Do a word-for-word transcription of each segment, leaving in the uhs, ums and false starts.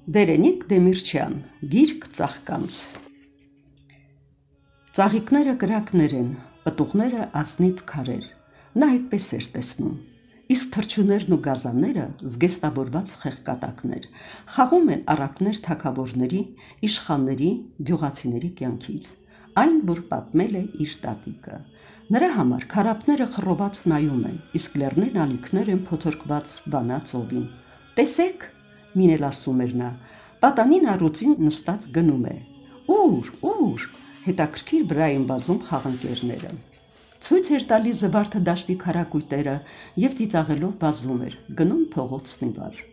Դերենիկ Դեմիրչյան, գիրք ծաղկանց։ Ծաղիկները կրակներ են, պտուղները ազնիվ քարեր, նա այդպես էր տեսնում, իսկ թռչուններն ու գազանները զգեստավորված խեղկատակներ, խաղում են առակներ թագավորների, իշխանների, գյուղացիների կյանքից, այն, որ պատմել է իր տատիկը։ Նրա համար քարափները խռոված նայում են, իսկ լեռներն ալիքներ են փոթորկված Վանա ծովին։ Տեսեք, մին էլ ասում էր նա, պատանին առուծին նստած գնում է։ Ուր, ուր, հետաքրքիր վրա են վազում խաղընկերները։ Ցույց էր տալիս Զվարթը դաշտի քարակույտերը և ծիծաղելով վազում էր, գնում փողոցն ի վար։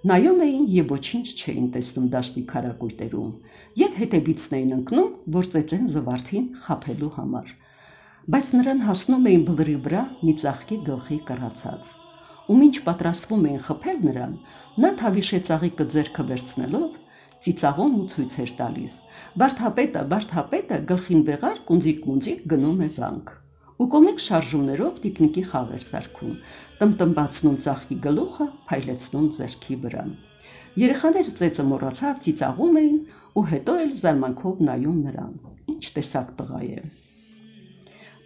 Նայում էին և ոչինչ չէին տեսնում դաշտի քարակույտերում, և հետևիցն էին ընկնում, որ ծեծեն Զվարթին խաբելու համար։ Բայց նրան հասնում էին բլրի վրա մի ծաղկի գլխի կռացած, ու մինչ պատրաստվում էին խփել նրան, նա թավիշե ծաղիկը ձեռքը վերցնելով ծիծաղում ու ցույց էր տալիս. Վարդապետը, վարդապետը գլխին վեղար կունձիկ-մունձիկ գնում է վանք, ու կոմիկ շարժումներով տիկնիկի խաղ էր սարքում, տմտմբացնում ծաղկի գլուխը, փայլեցնում ձեռքի վրա։ Երեխաները ծեծը մոռացած ծիծաղում էին ու հետո էլ զարմանքով նայում նրան, ինչ տեսակ տղա է։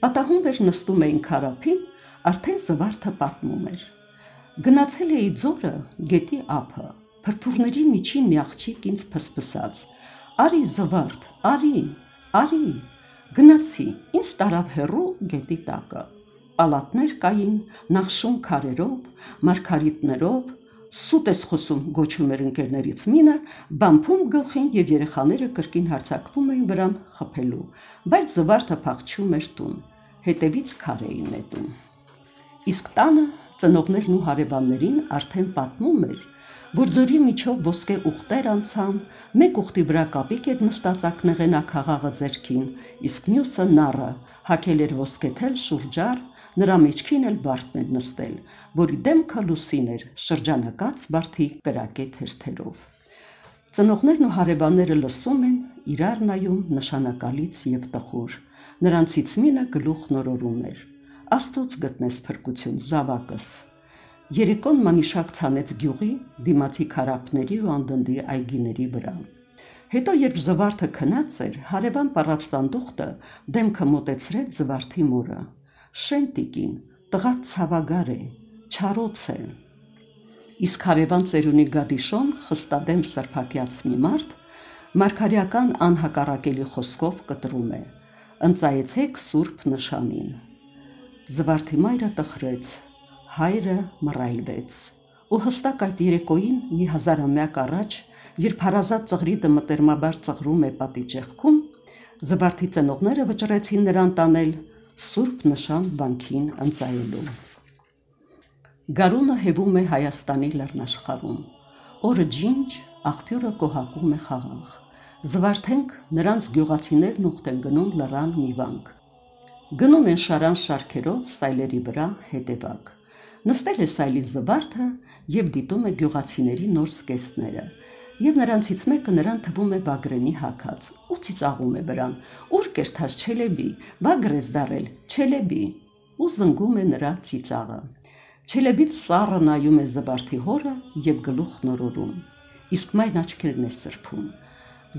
Պատահում էր նստում էին քարափին, արդեն Զվարթը պատմում էր. Գնացել էի ձորը, գետի ափը, փրփուրների միջին մի աղջիկ ինձ փսփսաց. Արի Զվարթ, արի, արի, գնացի, ինձ տարավ հեռու գետի տակը, պալատներ կային, նախշուն քարերով, մարգարիտներով, սուտ ես խոսում գոչում էր ընկերներից մինը, բամփում գլխին և երեխաները կրկին հարձակվում էին վրան խփելու, բայց Զվարթը փախչում էր տուն, հետևից քար էին նետում։ Իսկ տանը ծնողներն ու հարևաններին արդեն պատմում էր, որ ձորի միջով ոսկե ուղտեր անցան, մեկ ուղտի վրա կապիկ էր նստած ակնեղենաքաղաղը ձեռքին, իսկ մյուսը նառը, հագել էր ոսկեթել շուրջար, նրա մեջքին էլ վարդն էր նստել, որի դեմքը լուսին էր, շրջանակած վարդի կրակե թերթերով։ Ծնողներն ու հարևանները լսում են, իրար նայում նշանակալից և տխուր, նրանցից մինը գլուխ նորորում էր. Աստծուց գտնես փրկություն, զավակս։ Երեկոն մանիշակ ցանեց գյուղի, դիմացի քարափների ու անդնդի այգիների վրա։ Հետո երբ Զվարթը քնած էր, հարևան պառածտանդուխտը դեմքը մոտեցրեց Զվարթի մորը. Շեն տիկին, տղա ցավագար է, չարոց է։ Իսկ հարևան ծերունի Գադիշոն խստադեմ սրբակյաց մի մարդ մարգարեական անհակառակելի խոսքով կտրում է. Ընծայեցեք սուրբ նշանին։ Զվարթի մայրը տխրեց, հայրը մռայլվեց, ու հստակ այդ երեկոյին մի հազարամյակ առաջ, երբ հարազատ ծղրիդը մտերմաբար ծղրում է պատի ճեղքում, Զվարթի ծնողները վճռեցին նրան տանել սուրբ նշան վանքին ընծայելու։ Գարունը հևում է Հայաստանի լեռնաշխարհում, օրը ջինջ, աղբյուրը կոհակում է խաղաղ։ Զվարթենք նրանց գյուղացիներն ուխտ են գնում լռան մի վանք։ Գնում են շարան շարքերով սայլերի վրա հետևակ։ Նստել է սայլին Զվարթը և դիտում է գյուղացիների նոր զգեստները, և նրանցից մեկը նրան թվում է Վագրենի հագած, ու ծիծաղում է վրան. Ուր կերթած Չելեբի, Վագր ես դառել, Չելեբի, ու զնգում է նրա ծիծաղը։ Չելեբին սառը նայում է Զվարթի հորը և գլուխ նորորում, իսկ մայրն աչքերն է սրբում։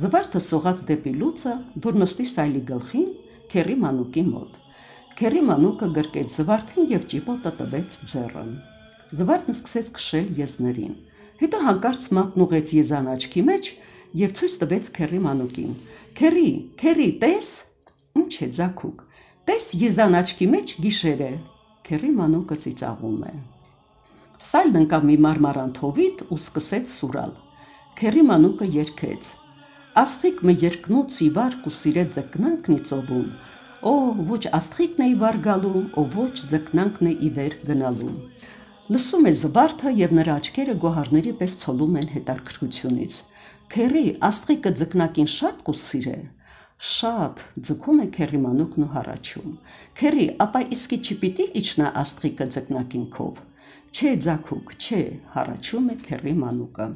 Զվարթը սողաց դեպի լուծը, որ նստի սայլի գլխին, քեռի մանուկի մոտ։ Քեռի մանուկը գրկեց Զվարթին և ճիպոտը տվեց ձեռը։ Զվարթն սկսեց քշել եզներին, հետո հանկարծ մատն ուղղեց եզան աչքի մեջ և ցույց տվեց քեռի մանուկին. Քեռի, քեռի, տես, ինչ է ձագուկ, տես եզան աչքի մեջ գիշեր է։ Քեռի մանուկը ծիծաղում է։ Սայլն ընկավ մի մարմարան թովիտ ու սկսեց սուրալ։ Քեռի մանուկը երգեց. Աստղիկ մը երկնուց ի վարկ ու սիրե ձկնանքն ի ծովում, Օ, ոչ աստղիկն է ի վար գալու, Օ, ոչ ձկնանքն է ի վեր գնալու։ Լսում է Զվարթը և նրա աչքերը գոհարների պես ցոլում են հետաքրքրությունից։ Քեռի, աստղիկը ձկնակին շատ կուսիրե։ Շատ, ձգում է քեռի մանուկն ու հառաչում։ Քեռի, ապա իսկի չպիտի իջնա աստղիկը ձկնակին քով։ Չէ, ձագուկ, չէ, հառաչում է քեռի մանուկը։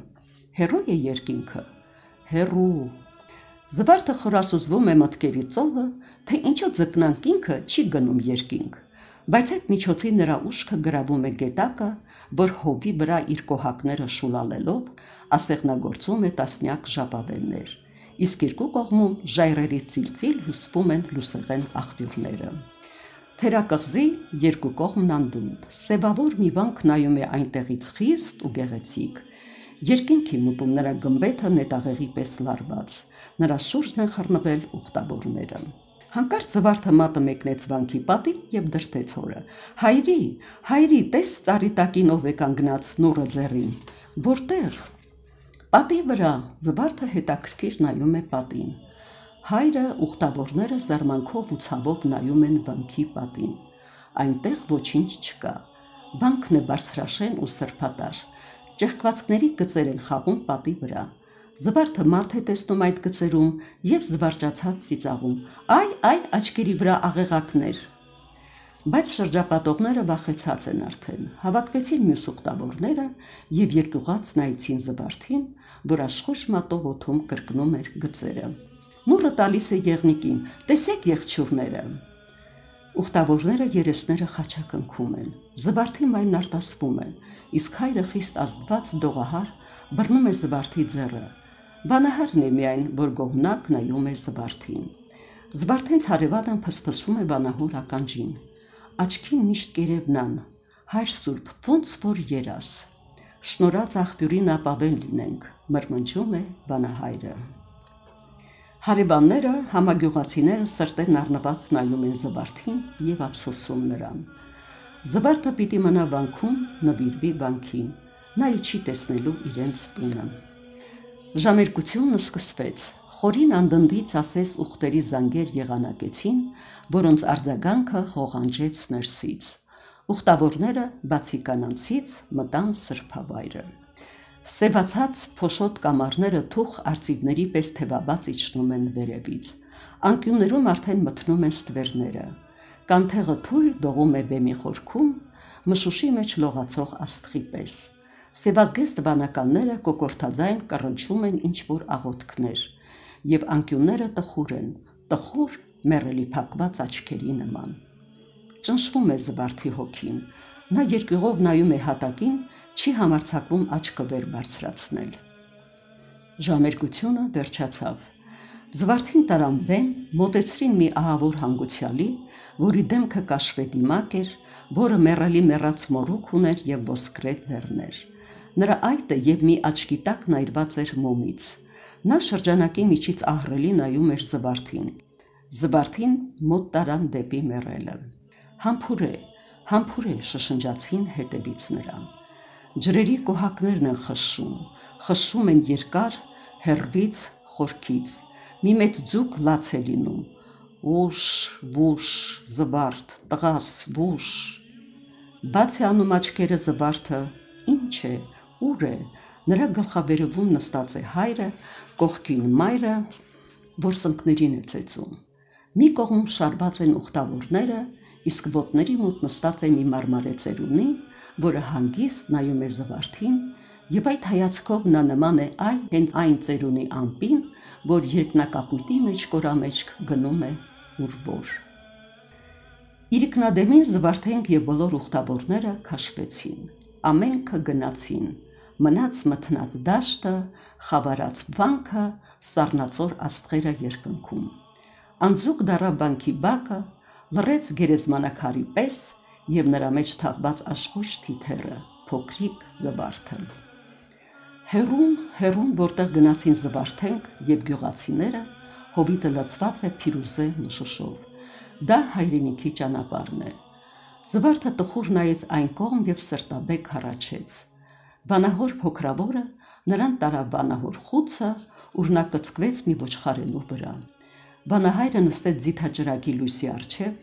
Հեռու է երկինքը։ Հեռու։ Զվարթը խորասուզվում է մտքերի ծովը, թե ինչու ձկնանք ինքը չի գնում երկինք։ Բայց այդ միջոցին նրա ուշքը գրավում է գետակը, որ հովի վրա իր կոհակները շուլալելով ասեղնագործում է տասնյակ ժապավեններ, իսկ երկու կողմում ժայռերի ծիլծիլ հյուսվում են լուսեղեն աղբյուրները։ Թերակղզի երկու կողմն անդունդ, սևավոր մի վանք նայում է այնտեղից խիստ ու գեղեցիկ։ Երկինքի մուտում նրա գմբեթը նետաղեղի պես լարված, նրա շուրջն են խռնվել ուխտավորները։ Հանկարծ Զվարթը մատը մեկնեց վանքի պատին և դրդեց հորը. «Հայրի, հայրի, տես ծառի տակին ով է կանգնած նուռը ձեռին»։ «Որտեղ»։ «Պատի վրա»։ Զվարթը հետաքրքիր նայում է պատին։ Հայրը, ուխտավորները զարմանքով ու ցավով նայում են վանքի պատին։ Այնտեղ ոչինչ չկա։ Վանքն է բարձրաշեն ու սրբատար։ Ճեղքվածքների գծեր են խաղում պատի վրա։ Զվարթը մարդ է տեսնում այդ գծերում և զվարճացած ծիծաղում. «Այ, այ, աչքերի վրա աղեղակներ»։ Բայց շրջապատողները վախեցած են արդեն, հավաքվեցին մյուս ուխտավորները և երկյուղած նայեցին Զվարթին, որ աշխույժ մատով օդում կրկնում էր գծերը։ «Նուռը տալիս է եղնիկին, տեսեք եղջյուրները»։ Ուխտավորները երեսները խաչակնքում են, Զվարթի մայրն արտասվում է, իսկ հայրը խիստ ազդված դողահար բռնում է Զվարթի ձեռը։ Վանահարն է միայն, որ գոհնակ նայում է Զվարթին։ Զվարթենց հարևանը փսփսում է վանահոր ականջին։ Աչքին միշտ կերևնան, հայր սուրբ, ոնց որ երաս։ Շնորհած աղբյուրին ապավեն լինենք, մրմնջում է վանահայրը։ Հարևանները, համագյուղացիները սրտերն առնված նայում են Զվարթին և ափսոսում նրան։ Զվարթը պիտի մնա վանքում, նվիրվի վանքին, նա էլ չի տեսնելու իրենց տունը։ Ժամերկությունը սկսվեց, խորին անդնդից ասես ուղտերի զանգեր եղանակեցին, որոնց արձագանքը ղողանջեց ներսից։ Ուխտավորները բացի կանանցից մտան սրբավայրը։ Սևացած փոշոտ կամարները թուխ արծիվների պես թևաբաց իջնում են վերևից։ Անկյուններում արդեն մթնում են ստվերները։ Կանթեղը թույլ դողում է բեմի խորքում, մշուշի մեջ լողացող աստղի պես։ Սևազգեստ վանականները կոկորդաձայն կռնչում են ինչ-որ աղոթքներ, և անկյունները տխուր են, տխուր մեռելի փակված աչքերի նման։ Ճնշվում է Զվարթի հոգին, նա երկյուղով նայում է հատակին, չի համարձակվում աչքը վեր բարձրացնել։ Ժամերկությունը վերջացավ։ Զվարթին տարան բեմ, մոտեցրին մի ահավոր հանգուցյալի, որի դեմքը կաշվե դիմակ էր, որը մեռելի մեռած մորուք ուներ և ոսկրե ձեռներ։ Նրա այտը և մի աչքի տակ նայրված էր մոմից։ Նա շրջանակի միջից ահռելի նայում էր Զվարթին։ Զվարթին մոտ տարան դեպի մեռելը։ «Համբուրե, համբուրե», շշնջացին հետևից նրան։ Ջրերի կոհակներն են խշշում, խշշում են երկար, հեռվից, խորքից։ Մի մեծ ձուկ լաց է լինում. «Ուշ, վուշ, Զվարթ, տղաս, վուշ»։ Բաց է անում աչքերը Զվարթը, ինչ է, ուր է։ Նրա գլխավերևում նստած է հայրը, կողքին մայրը, որ սնկներին է ծեծում։ Մի կողմում շարված են ուխտավորները, իսկ ոտների մոտ նստած է մի մարմարե ծերունի, որը հանգիստ նայում է Զվարթին, և այդ հայացքով նա նման է այն հենց այն ծերունի ամպին, որ երկնակապույտի մեջ կորամեջք գնում է ուր որ։ Իրիկնադեմին Զվարթենք և բոլոր ուխտավորները քաշվեցին, ամենքը գնացին, մնաց մթնած դաշտը, խավարած վանքը, սառնածոր աստղերը երկնքում։ Անձուկ դառավ վանքի բակը, լռեց գերեզմանակարի պես և նրա մեջ թաղված աշխույժ թիթեռը, փոքրիկ Զվարթը։ Հեռում, հեռում, որտեղ գնացին Զվարթենք և գյուղացիները, հովիտը լցված է փիրուզե մշուշով։ Դա հայրենիքի ճանապարհն է։ Զվարթը տխուր նայեց այն կողմ և սրտաբեկ հառաչեց։ Վանահոր փոքրավորը նրան տարավ վանահոր խուցը, ուր նա կծկվեց մի ոչխարենու վրա։ Վանահայրը նստեց ձիթաճրագի լույսի առջև,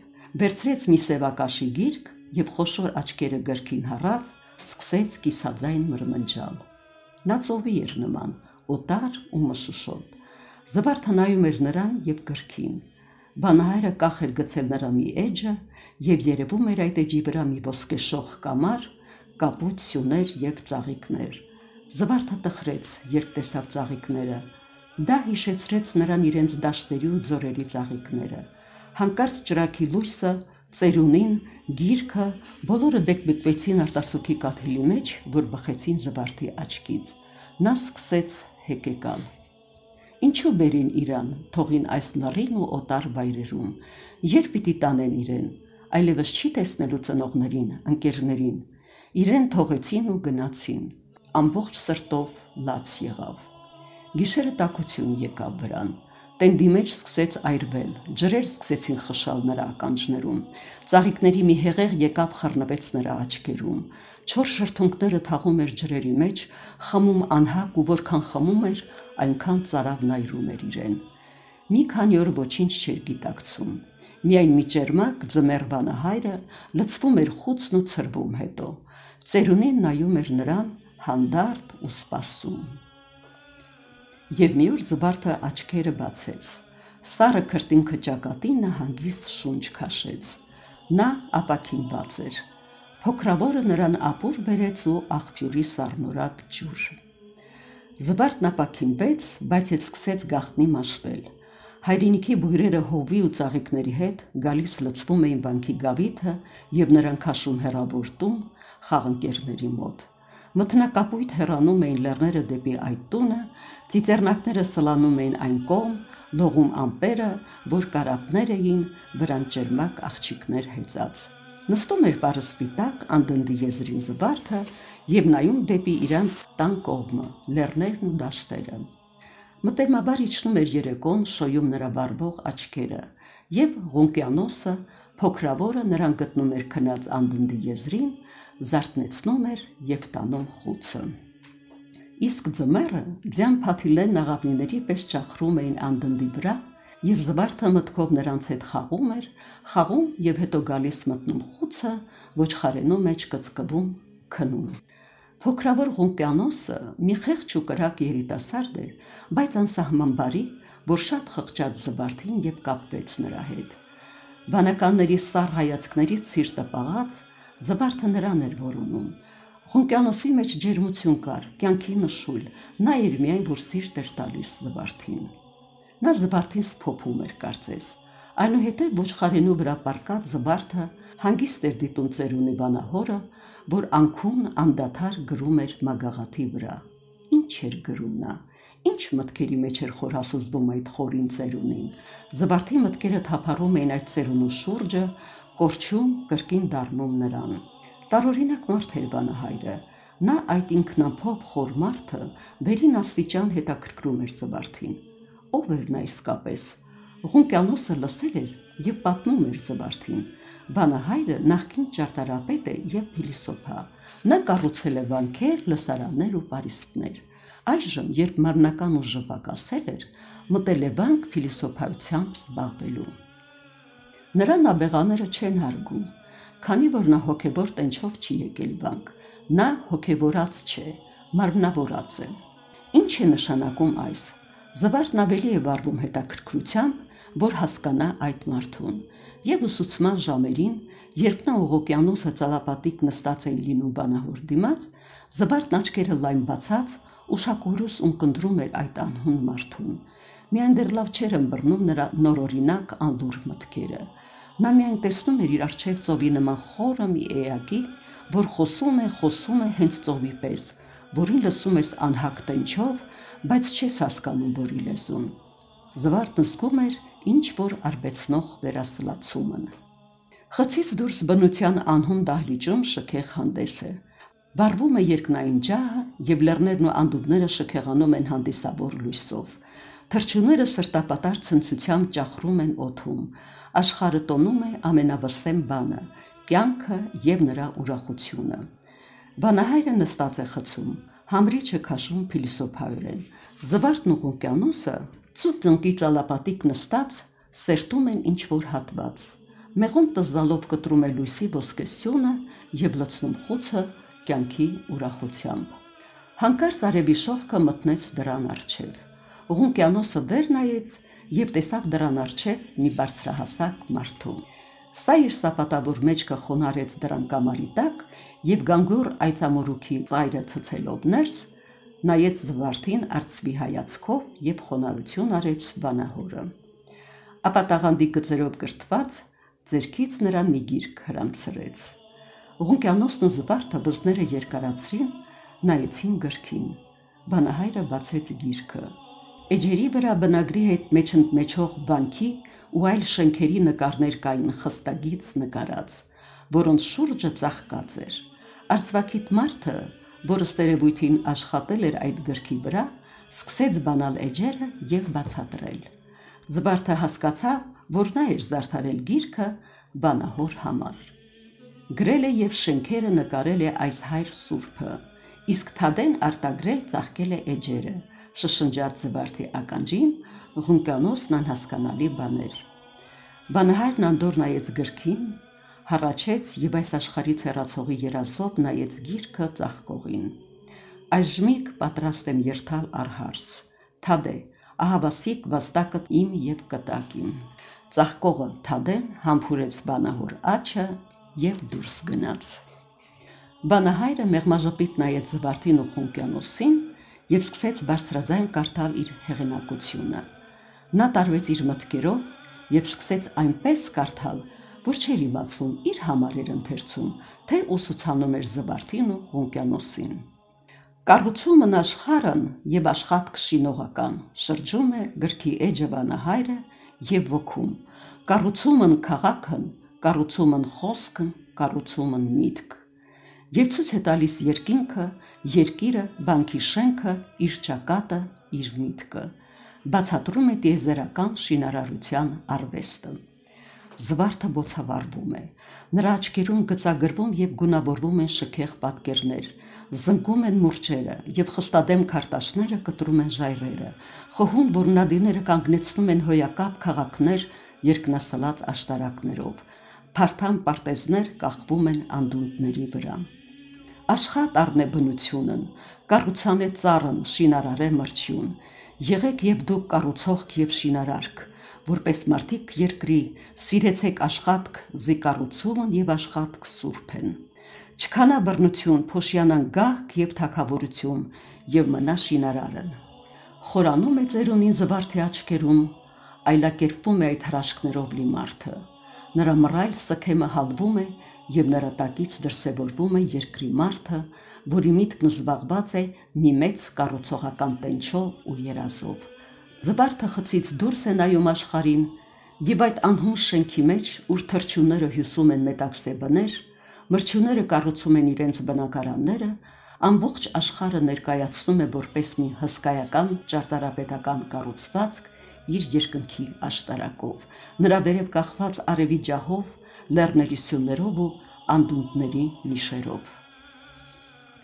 վերցրեց մի սևակաշի գիրք և խոշոր աչքերը գրքին հառած, սկսեց կիսաձայն մրմնջալ։ Նա ծովի էր նման, օտար ու մշուշոտ։ Զվարթը նայում էր նրան և գրքին։ Վանահայրը կախ էր գցել նրա մի էջը, և երևում էր այդ էջի վրա մի ոսկեշող կամար, կապույտ սյուներ և ծաղիկներ։ Զվարթը տխրեց, երբ տեսավ ծաղիկները։ Դա հիշեցրեց նրան իրենց դաշտերի ու ձորերի ծաղիկները։ Հանկարծ ճրագի լույսը ծերունին, գիրքը, բոլորը դեկմեկվեցին արտասուքի կաթիլի մեջ, որ բխեցին Զվարթի աչքից։ Նա սկսեց հեկեկալ։ Ինչու բերին իրան, թողին այս լռին ու օտար վայրերում, երբ պիտի տանեն իրեն, այլևս չի տեսնելու ծնողներին, ընկերներին, իրեն թողեցին ու գնացին, ամբողջ սրտով լաց եղավ։ Գիշերը տաքություն եկավ վրան, տենդի մեջ սկսեց այրվել, ջրեր սկսեցին խշալ նրա ականջներում, ծաղիկների մի հեղեղ եկավ խռնվեց նրա աչքերում, չոր շրթունքները թաղում էր ջրերի մեջ, խմում անհակ ու որքան խմում էր, այնքան ծարավն այրում էր իրեն։ Մի քանի օր ոչինչ չէր գիտակցում, միայն մի ճերմակ ձմեռ վանահայրը լցվում էր խուցն ու ցրվում հետո, ծերունին նայում էր նրան հանդարտ ու սպասում։ Եվ մի օր Զվարթը աչքերը բացեց, սառը քրտինքը ճակատին նա հանգիստ շունչ քաշեց, նա ապաքինված էր, փոքրավորը նրան ապուր բերեց ու աղբյուրի սառնորակ ջուր։ Զվարթն ապաքինվեց, բայց հետ սկսեց գաղտնի մաշվել, հայրենիքի բույրերը հովի ու ծաղիկների հետ գալիս լցվում էին վանքի գավիթը և նրան քաշում հեռավոր տուն խաղընկերների մոտ։ Մթնակապույտ հեռանում էին լեռները դեպի այդ տունը, ծիծեռնակները սլանում էին այն կողմ, լողում ամպերը, որ կարապներ էին, վրան ճերմակ աղջիկներ հեծած։ Նստում էր պարսպիտակ անդնդի եզրին Զվարթը և նայում դեպի իրանց տան կողմը, լեռներն ու դաշտերը։ Մտերմաբար իջնում էր երեկոն, շոյում նրա վառվող աչքերը, և Ղունկիանոսը, փոքրավորը նրան գտնում էր քնած անդնդի եզրին, զարթնեցնում էր և տանում խուցը։ Իսկ ձմեռը ձյան փաթիլներն աղավնիների պես ճախրում էին անդնդի վրա, և Զվարթը մտքով նրանց հետ խաղում էր, խաղում և հետո գալիս մտնում խուցը, ոչխարենու մեջ կծկվում, քնում։ Փոքրավոր Ղունկիանոսը մի խեղճ ու կրակ երիտասարդ էր, բայց անսահման բարի, որ շատ խղճաց Զվարթին և կապվեց նրա հետ։ Վանականների սառ հայացքներից սիրտը պաղած, Զվարթը նրան էր որոնում։ Ղունկիանոսի մեջ ջերմություն կար, կյանքի նշույլ, նա էր միայն, որ սիրտ էր տալիս Զվարթին։ Նա Զվարթին սփոփում էր կարծես, այնուհետև ոչխարենու վրա պառկած Զվարթը հանգիստ էր դիտում ծերունի վանահորը, որ անքուն անդադար գրում էր մագաղաթի վրա։ Ինչ էր գրում նա, ինչ մտքերի մեջ էր խորհասուզվում այդ խորին ծերունին։ Զվարթի մտքերը թափառում էին այդ ծերունու շուրջը, կորչում, կրկին դառնում նրան։ Տարօրինակ մարդ էր վանահայրը, նա այդ ինքնափոփ խոր մարդը վերին աստիճան հետաքրքրում էր Զվարթին։ Ո՞վ էր նա իսկապես։ Ղունկիանոսը լսել էր և պատմում էր Զվարթին։ Վանահայրը նախկին ճարտարապետ է և փիլիսոփա։ Նա կառուցել է վանքեր, լսարաններ ու պարիսպներ։ Այժմ, երբ մարմնական ուժը պակասել էր, մտել է վանք փիլիսոփայությամբ զբաղվելու։ Նրան աբեղաները չեն հարգում, քանի որ նա հոգևոր տենչով չի եկել վանք, նա հոգևորած չէ, մարմնավորած է։ Ինչ է նշանակում այս։ Զվարթն ավելի է վառվում հետաքրքրությամբ, որ հասկանա այդ մարդուն, և ուսուցման ժամերին, երբ նա Ղունկիանոսը ծալապատիկ նստած էին լինում վանահոր դիմաց, Զվարթն աչքերը լայն բացած, ուշակորուս ունկնդրում էր այդ անհուն մարդուն։ Միայն դեռ լավ չէր ըմբռնում նրա նորօրինակ անլուռ մտքերը։ Նա միայն տեսնում էր իր առջև ծովի նման խորը մի էակի, որ խոսում է, խոսում է հենց ծովի պես, որին լսում ես անհակ տենչով, բայց չես հասկանում որի լեզուն։ Զվարթն զգում էր ինչ-որ արբեցնող վերասլացումն։ Խցից դուրս բնության անհուն դահլիճում շքեղ հանդես է։ Վառվում է երկնային ջահը, և լեռներն ու անդունդները շքեղանում են հանդիսավոր լույսով։ Թռչունները սրտապատար ցնցությամբ ճախրում են օդում, աշխարհը տոնում է ամենավսեմ բանը՝ կյանքը և նրա ուրախությունը։ Վանահայրը նստած է խցում, համրիչը քաշում փիլիսոփայորեն։ Զվարթն ու Ղունկիանոսը ծուտ տնկի ծալապատիկ նստած սերտում են ինչ-որ հատված։ Մեղուն տզզալով կտրում է լույսի ոսկեսյունը և լցնում խուցը կյանքի ուրախությամբ։ Հանկարծ արևի շողքը մտնեց դռան առջև։ Ղունկիանոսը վեր նայեց և տեսավ դռան առջև մի բարձրահասակ մարդու։ Սա իր սապատավոր մեջքը խոնարհեց դռան կամարի տակ և գանգուր այծամորուքի ծայրը ցցելով ներս, նայեց Զվարթին արծվի հայացքով և խոնարհություն արեց վանահորը։ Ապա տաղանդի գծերով կրթված, ձերքից նրան մի գիրք հրամցրեց։ Ղունկիանոսն ու Զվարթը բզները երկարացրին, նայեցին գրքին։ Վանահայրը բացեց գիրքը։ Էջերի վրա բնագրի հետ մեջընդմեջող վանքի ու այլ շենքերի նկարներ կային խստագից նկարած, որոնց շուրջը ծաղկած էր։ Արծվաքիթ մարդը, որը ստերևույթին աշխատել էր այդ գրքի վրա, սկսեց բանալ էջերը և բացատրել։ Զվարթը հասկացավ, որ նա էր զարդարել գիրքը վանահոր համար։ Գրել է և շենքերը նկարել է այս հայր սուրբը, իսկ Թադեն արտագրել ծաղկել է էջերը, շշնջաց Զվարթի ականջին, Ղունկիանոսն անհասկանալի բաներ։ Վանահայրն անդոր նայեց գրքին, հառաչեց և այս աշխարհից հեռացողի երազով նայեց գիրքը ծաղկողին։ Այժմիկ պատրաստ եմ երթալ առհարս, Թադե, ահավասիկ վաստակդ իմ և կտակիմ։ Ծաղկողը Թադեն համբուրեց վանահոր աջը և դուրս գնաց։ Վանահայրը մեղմաժպիտ նայեց Զվարթին ու Ղունկիանոսին և սկսեց բարձրաձայն կարդալ իր հեղինակությունը։ Նա տարվեց իր մտքերով և սկսեց այնպես կարդալ, որ չէր իմացում իր համար էր ընթերցում, թե ուսուցանում էր Զվարթին ու Ղունկիանոսին։ Կառուցումն աշխարհն և աշխատք շինողական, շրջում է գրքի էջը վանահայրը և ոգում, կառուցումն քաղաքն, կառուցումն խոսքն, կառուցումն միտք։ Եվ ցույց է տալիս երկինքը, երկիրը, վանքի շենքը, իր ճակատը, իր միտքը, բացատրում է տիեզերական շինարարության արվեստը։ Զվարթը բոցավառվում է, նրա աչքերում գծագրվում և գունավորվում են շքեղ պատկերներ, զնգում են մուրճերը և խստադեմ քարտաշները կտրում են ժայռերը, խոհում որմնադիրները կանգնեցնում են հոյակապ քաղաքներ երկնասլաց աշտարակներով, փարթամ պարտեզներ կախվում են անդունդների վրա։ Աշխատ առնե բնությունն, կառուցանե ծառն, շինարարե մրջյուն, եղեք և դուք կառուցողք և շինարարք, որպես մարդիկ երկրի, սիրեցեք աշխատք, զի կառուցումն և աշխատք սուրբ են։ Չքանա բռնություն, փոշյանան գահք և թագավորություն, և մնա շինարարն։ Խորանում է ծերունին Զվարթի աչքերում, այլակերպվում է այդ հրաշքներով լի մարդը։ Նրա մռայլ սքեմը հալվում է և նրա տակից դրսևորվում է երկրի մարդը, որի միտքն զբաղված է մի մեծ կառուցողական տենչով ու երազով։ Զվարթը խցից դուրս է նայում աշխարհին, և այդ անհուն շենքի մեջ, ուր թռչունները հյուսում են մետաքսե բներ, մրջյունները կառուցում են իրենց բնակարանները, ամբողջ աշխարհը ներկայացնում է որպես մի հսկայական ճարտարապետական կառուցվածք իր երկնքի աշտարակով, նրա վերև կախված արևի ջահով, լեռների սյուններով ու անդունդների նիշերով։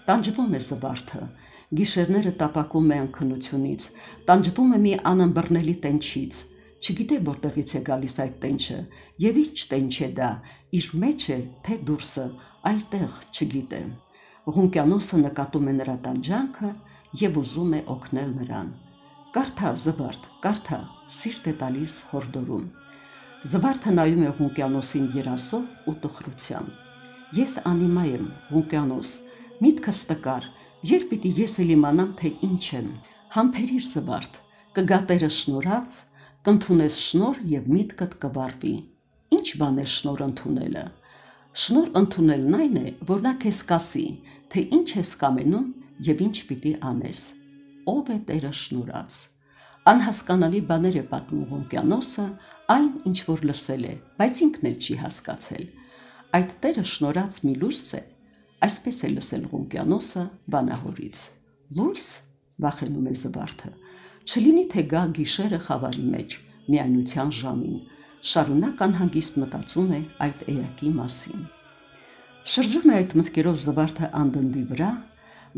Տանջվում է Զվարթը, գիշերները տապակում է անքնությունից, տանջվում է մի անըմբռնելի տենչից, չգիտե որտեղից է գալիս այդ տենչը և ինչ տենչ է դա, իր մեջ է, թե դուրսը, այլտեղ չգիտե։ Ղունկիանոսը նկատում է նրա տանջանքը և ուզում է օգնել նրան։ Կարդա, Զվարթ, կարդա, սիրտ է տալիս հորդորում։ Զվարթը նայում է Ղունկիանոսին երազով ու տխրությամբ։ Ես անիմա եմ, Ղունկիանոս, միտքս տկար, երբ պիտի ես էլ իմանամ, թե ինչ եմ։ Համբերիր, Զվարթ, կգա Տերը շնորհած, կընդունես շնորհ և միտքդ կվառվի։ Ինչ բան է շնորհ ընդունելը։ Շնորհ ընդունելն այն է, որ նա քեզ կասի, թե ինչ ես կամենում և ինչ պիտի անես։ Ով է Տերը շնորհած։ Անհասկանալի բաներ է պատմում Ղունկիանոսը, այն, ինչ որ լսել է, բայց ինքն էլ չի հասկացել։ Այդ Տերը շնորհած մի լույս է, այսպես է լսել Ղունկիանոսը վանահորից։ Լույս, վախենում է Զվարթը, չլինի թե գա գիշերը խավարի մեջ, միայնության ժամին, շարունակ անհանգիստ մտածում է այդ էակի մասին։ Շրջում է այդ մտքերով Զվարթը անդնդի վրա,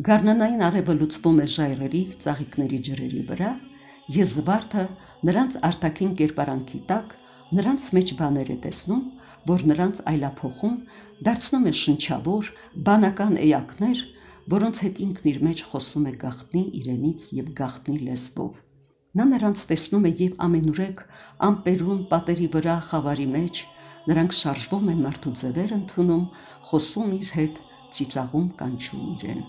գարնանային արևը լուծվում է ժայռերի, ծաղիկների ջրերի վրա, և Զվարթը նրանց արտաքին կերպարանքի տակ նրանց մեջ բաներ է տեսնում, որ նրանց այլափոխում, դարձնում է շնչավոր, բանական էակներ, որոնց հետ ինքն իր մեջ խոսում է գաղտնի իրենից և գաղտնի լեզվով։ Նա նրանց տեսնում է և ամենուրեք ամպերում, պատերի վրա, խավարի մեջ, նրանք շարժվում են մարդու ձևեր ընդունում, խոսում իր հետ, ծիծաղում կանչում իրեն։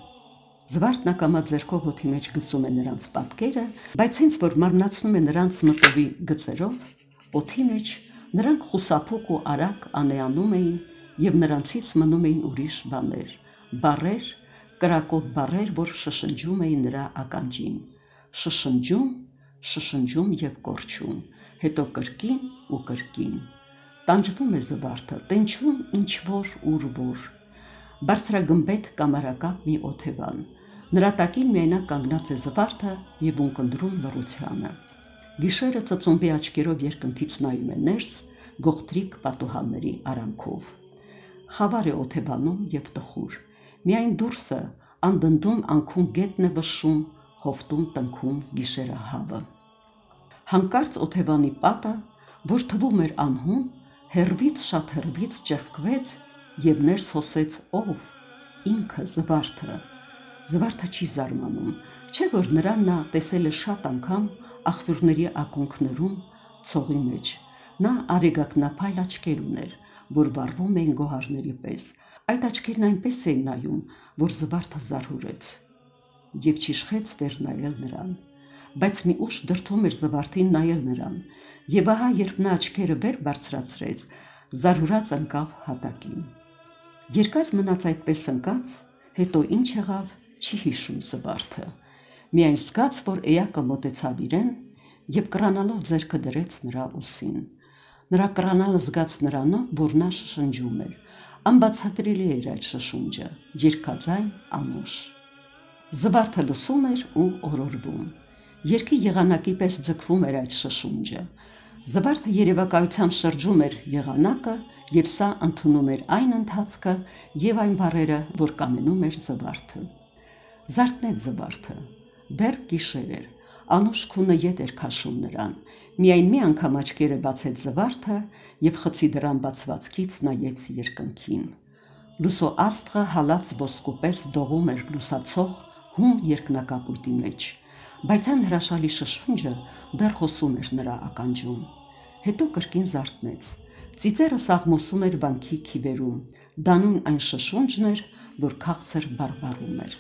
Զվարթն ակամա ձեռքով օդի մեջ գցում է նրանց պատկերը, բայց հենց որ մարմնացնում է նրանց մտովի գծերով, օդի մեջ Նրանք խուսափուկ ու արագ անեանում էին և նրանցից մնում էին ուրիշ բաներ, բառեր, կրակոտ բառեր, որ շշնջում էին նրա ականջին, շշնջում, շշնջում և կորչում, հետո կրկին ու կրկին։ Տանջվում է զվարթը, տենչում ինչ-որ ուր-որ։ Բարձրագմբեթ կամարակապ մի օթևան, նրա տակին միայնակ կանգնած է զվարթը և ունկնդրում լռությանը։ Գիշերը ծծումբի աչքերով երկնքից նայում է ներս, գողտրիկ պատուհանների արանքով։ Խավար է օթևանում և տխուր, միայն դուրսը անդնդում անքուն գետն է վշշում, հովտում տնքում գիշերահավը։ Հանկարծ օթևանի պատը, որ թվում էր անհուն, հեռվից շատ հեռվից ճեղքվեց և ներս հոսեց ով, ինքը զվարթը։ Զվարթը չի զարմանում, չէ որ նրան նա տեսել է շատ անգամ աղբյուրների ակունքներում, ցողի մեջ։ Նա արեգակնափայլ աչքեր ուներ, որ վառվում էին գոհարների պես, այդ աչքերն այնպես էին նայում, որ զվարթը զարհուրեց և չիշխեց վեր նայել նրան, բայց մի ուժ դրդում էր զվարթին նայել նրան, և ահա երբ նա աչքերը վեր բարձրացրեց, զարհուրած ընկավ հատակին։ Երկար մնաց այդպես ընկած, հետո ինչ եղավ, չի հիշում զվարթը, միայն զգաց, որ էակը մոտեցավ իրեն և կռանալով ձեռքը դրեց նրա ուսին։ Նրա կռանալը զգաց նրանով, որ նա շշնջում էր, անբացատրելի էր այդ շշունջը, երգաձայն, անուշ։ Զվարթը լսում էր ու օրորվում, երգի եղանակի պես ձգվում էր այդ շշունջը։ Զվարթը երևակայությամբ շրջում էր եղանակը և սա ընդունում էր այն ընթացքը և այն բառերը, որ կամենում էր զվարթը։ Զարթնեց զվարթը, դեռ գիշեր էր, անուշ քունը ետ էր քաշում նրան, միայն մի անգամ աչքերը բացեց զվարթը և խցի դռան բացվածքից նայեց երկնքին։ Լուսո աստղը հալած ոսկու պես դողում էր լուսացող հում երկնակապույտի մեջ, բայց այն հրաշալի շշունջը դեռ հոսում էր նրա ականջում։ Հետո կրկին զարթնեց, ծիծեռը սաղմոսում էր վանքի քիվերում, դանուն այն շշունջն էր, որ քաղցր բարբառում էր։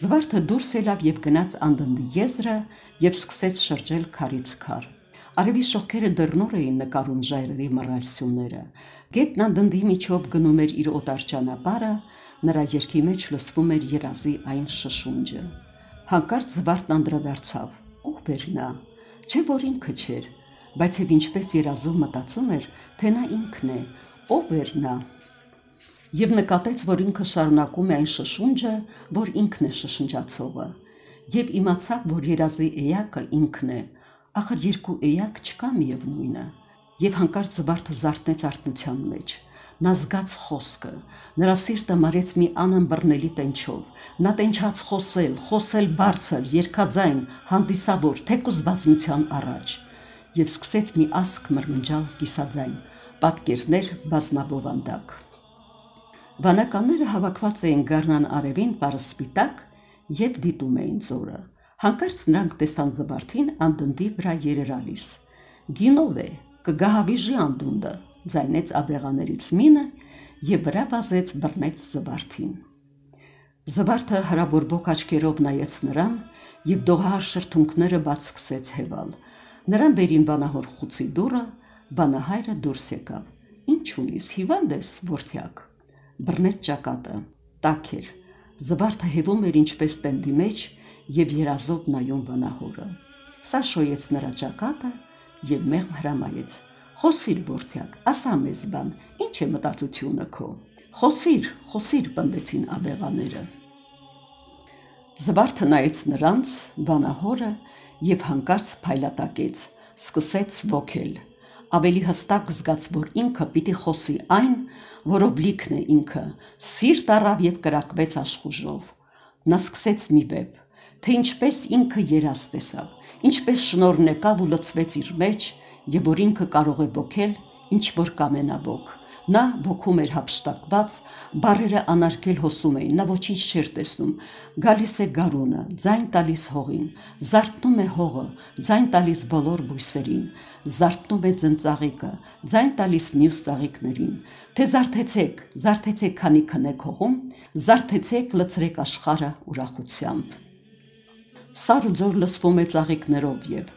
Զվարթը դուրս ելավ և գնաց անդնդի եզրը և սկսեց շրջել քարից քար։ Արևի շողքերը դեռ նոր էին նկարում ժայռերի մռայլ սյուները, գետն անդնդի միջով գնում էր իր օտար ճանապարհը, նրա երգի մեջ լսվում էր երազի այն շշունջը։ Հանկարծ զվարթն անդրադարձավ, ով էր նա, չէ որ ինքը չէր, բայց և ինչպես երազում մտածում էր, թե նա ինքն է, ով էր նա, և նկատեց, որ ինքը շարունակում է այն շշունջը, որ ինքն է շշնջացողը, և իմացավ, որ երազի էակը ինքն է, ախր երկու էակ չկա միևնույնը, և հանկարծ զվարթը զարթնեց արթնության մեջ։ Նա զգաց խոսքը, նրա սիրտը մարեց մի անըմբռնելի տենչով, նա տենչաց խոսել, խոսել բարձր, երգաձայն, հանդիսավոր, թեկուզ բազմության առաջ, և սկսեց մի ասք մրմնջալ կիսաձայն, պատկերներ բազմաբովանդակ։ Վանականները հավաքված էին գարնան արևին պարսպիտակ և դիտում էին ձորը։ Հանկարծ նրանք տեսան զվարթին անդնդի վրա երերալիս։ Գինով է, կգահավիժի անդունդը, ձայնեց աբեղաներից մինը և վրա վազեց բռնեց զվարթին։ Զվարթը հրաբորբոք աչքերով նայեց նրան և դողահար շրթունքները բաց սկսեց հևալ։ Նրան բերին վանահոր խուցի դուռը, վանահայրը դուրս եկավ։ Ինչ ունիս, հիվանդ ես, որդյակ։ Բռնեց ճակատը, տաք էր, զվարթը հևում էր ինչպես տենդի մեջ և երազով նայում վանահորը։ Սա շոյեց նրա ճակատը և մեղմ հրամայեց. Խոսիր, որդյակ, ասա մեզ բան, ինչ է մտածությունը քո։ Խոսիր, խոսիր, պնդեցին աբեղաները։ Զվարթը նայեց նրանց, վանահորը և հանկարծ փայլատակեց, սկսեց ոգել, ավելի հստակ զգաց, որ ինքը պիտի խոսի այն, որով լիքն է ինքը, սիրտ առավ և կրակվեց աշխուժով։ Նա սկսեց մի վեպ, թե ինչպես ինքը երազ տեսավ, ինչպես շնորհն եկավ ու լցվեց իր մեջ, և որ ինքը կարող է ոգել, ինչ որ կամենա ոք։ Նա ոգում էր հափշտակված, բառերը անարգել հոսում էին, նա ոչինչ չէր տեսնում, գալիս է գարունը, ձայն տալիս հողին, զարթնում է հողը, ձայն տալիս բոլոր բույսերին, զարթնում է ձնծաղիկը, ձայն տալիս մյուս ծաղիկներին, թե զարթեցեք, զարթեցեք, քանի քնեք հողում, զարթեցեք, լցրեք աշխարհը ուրախությամբ։ Սար ու ձոր լցվում է ծաղիկներով և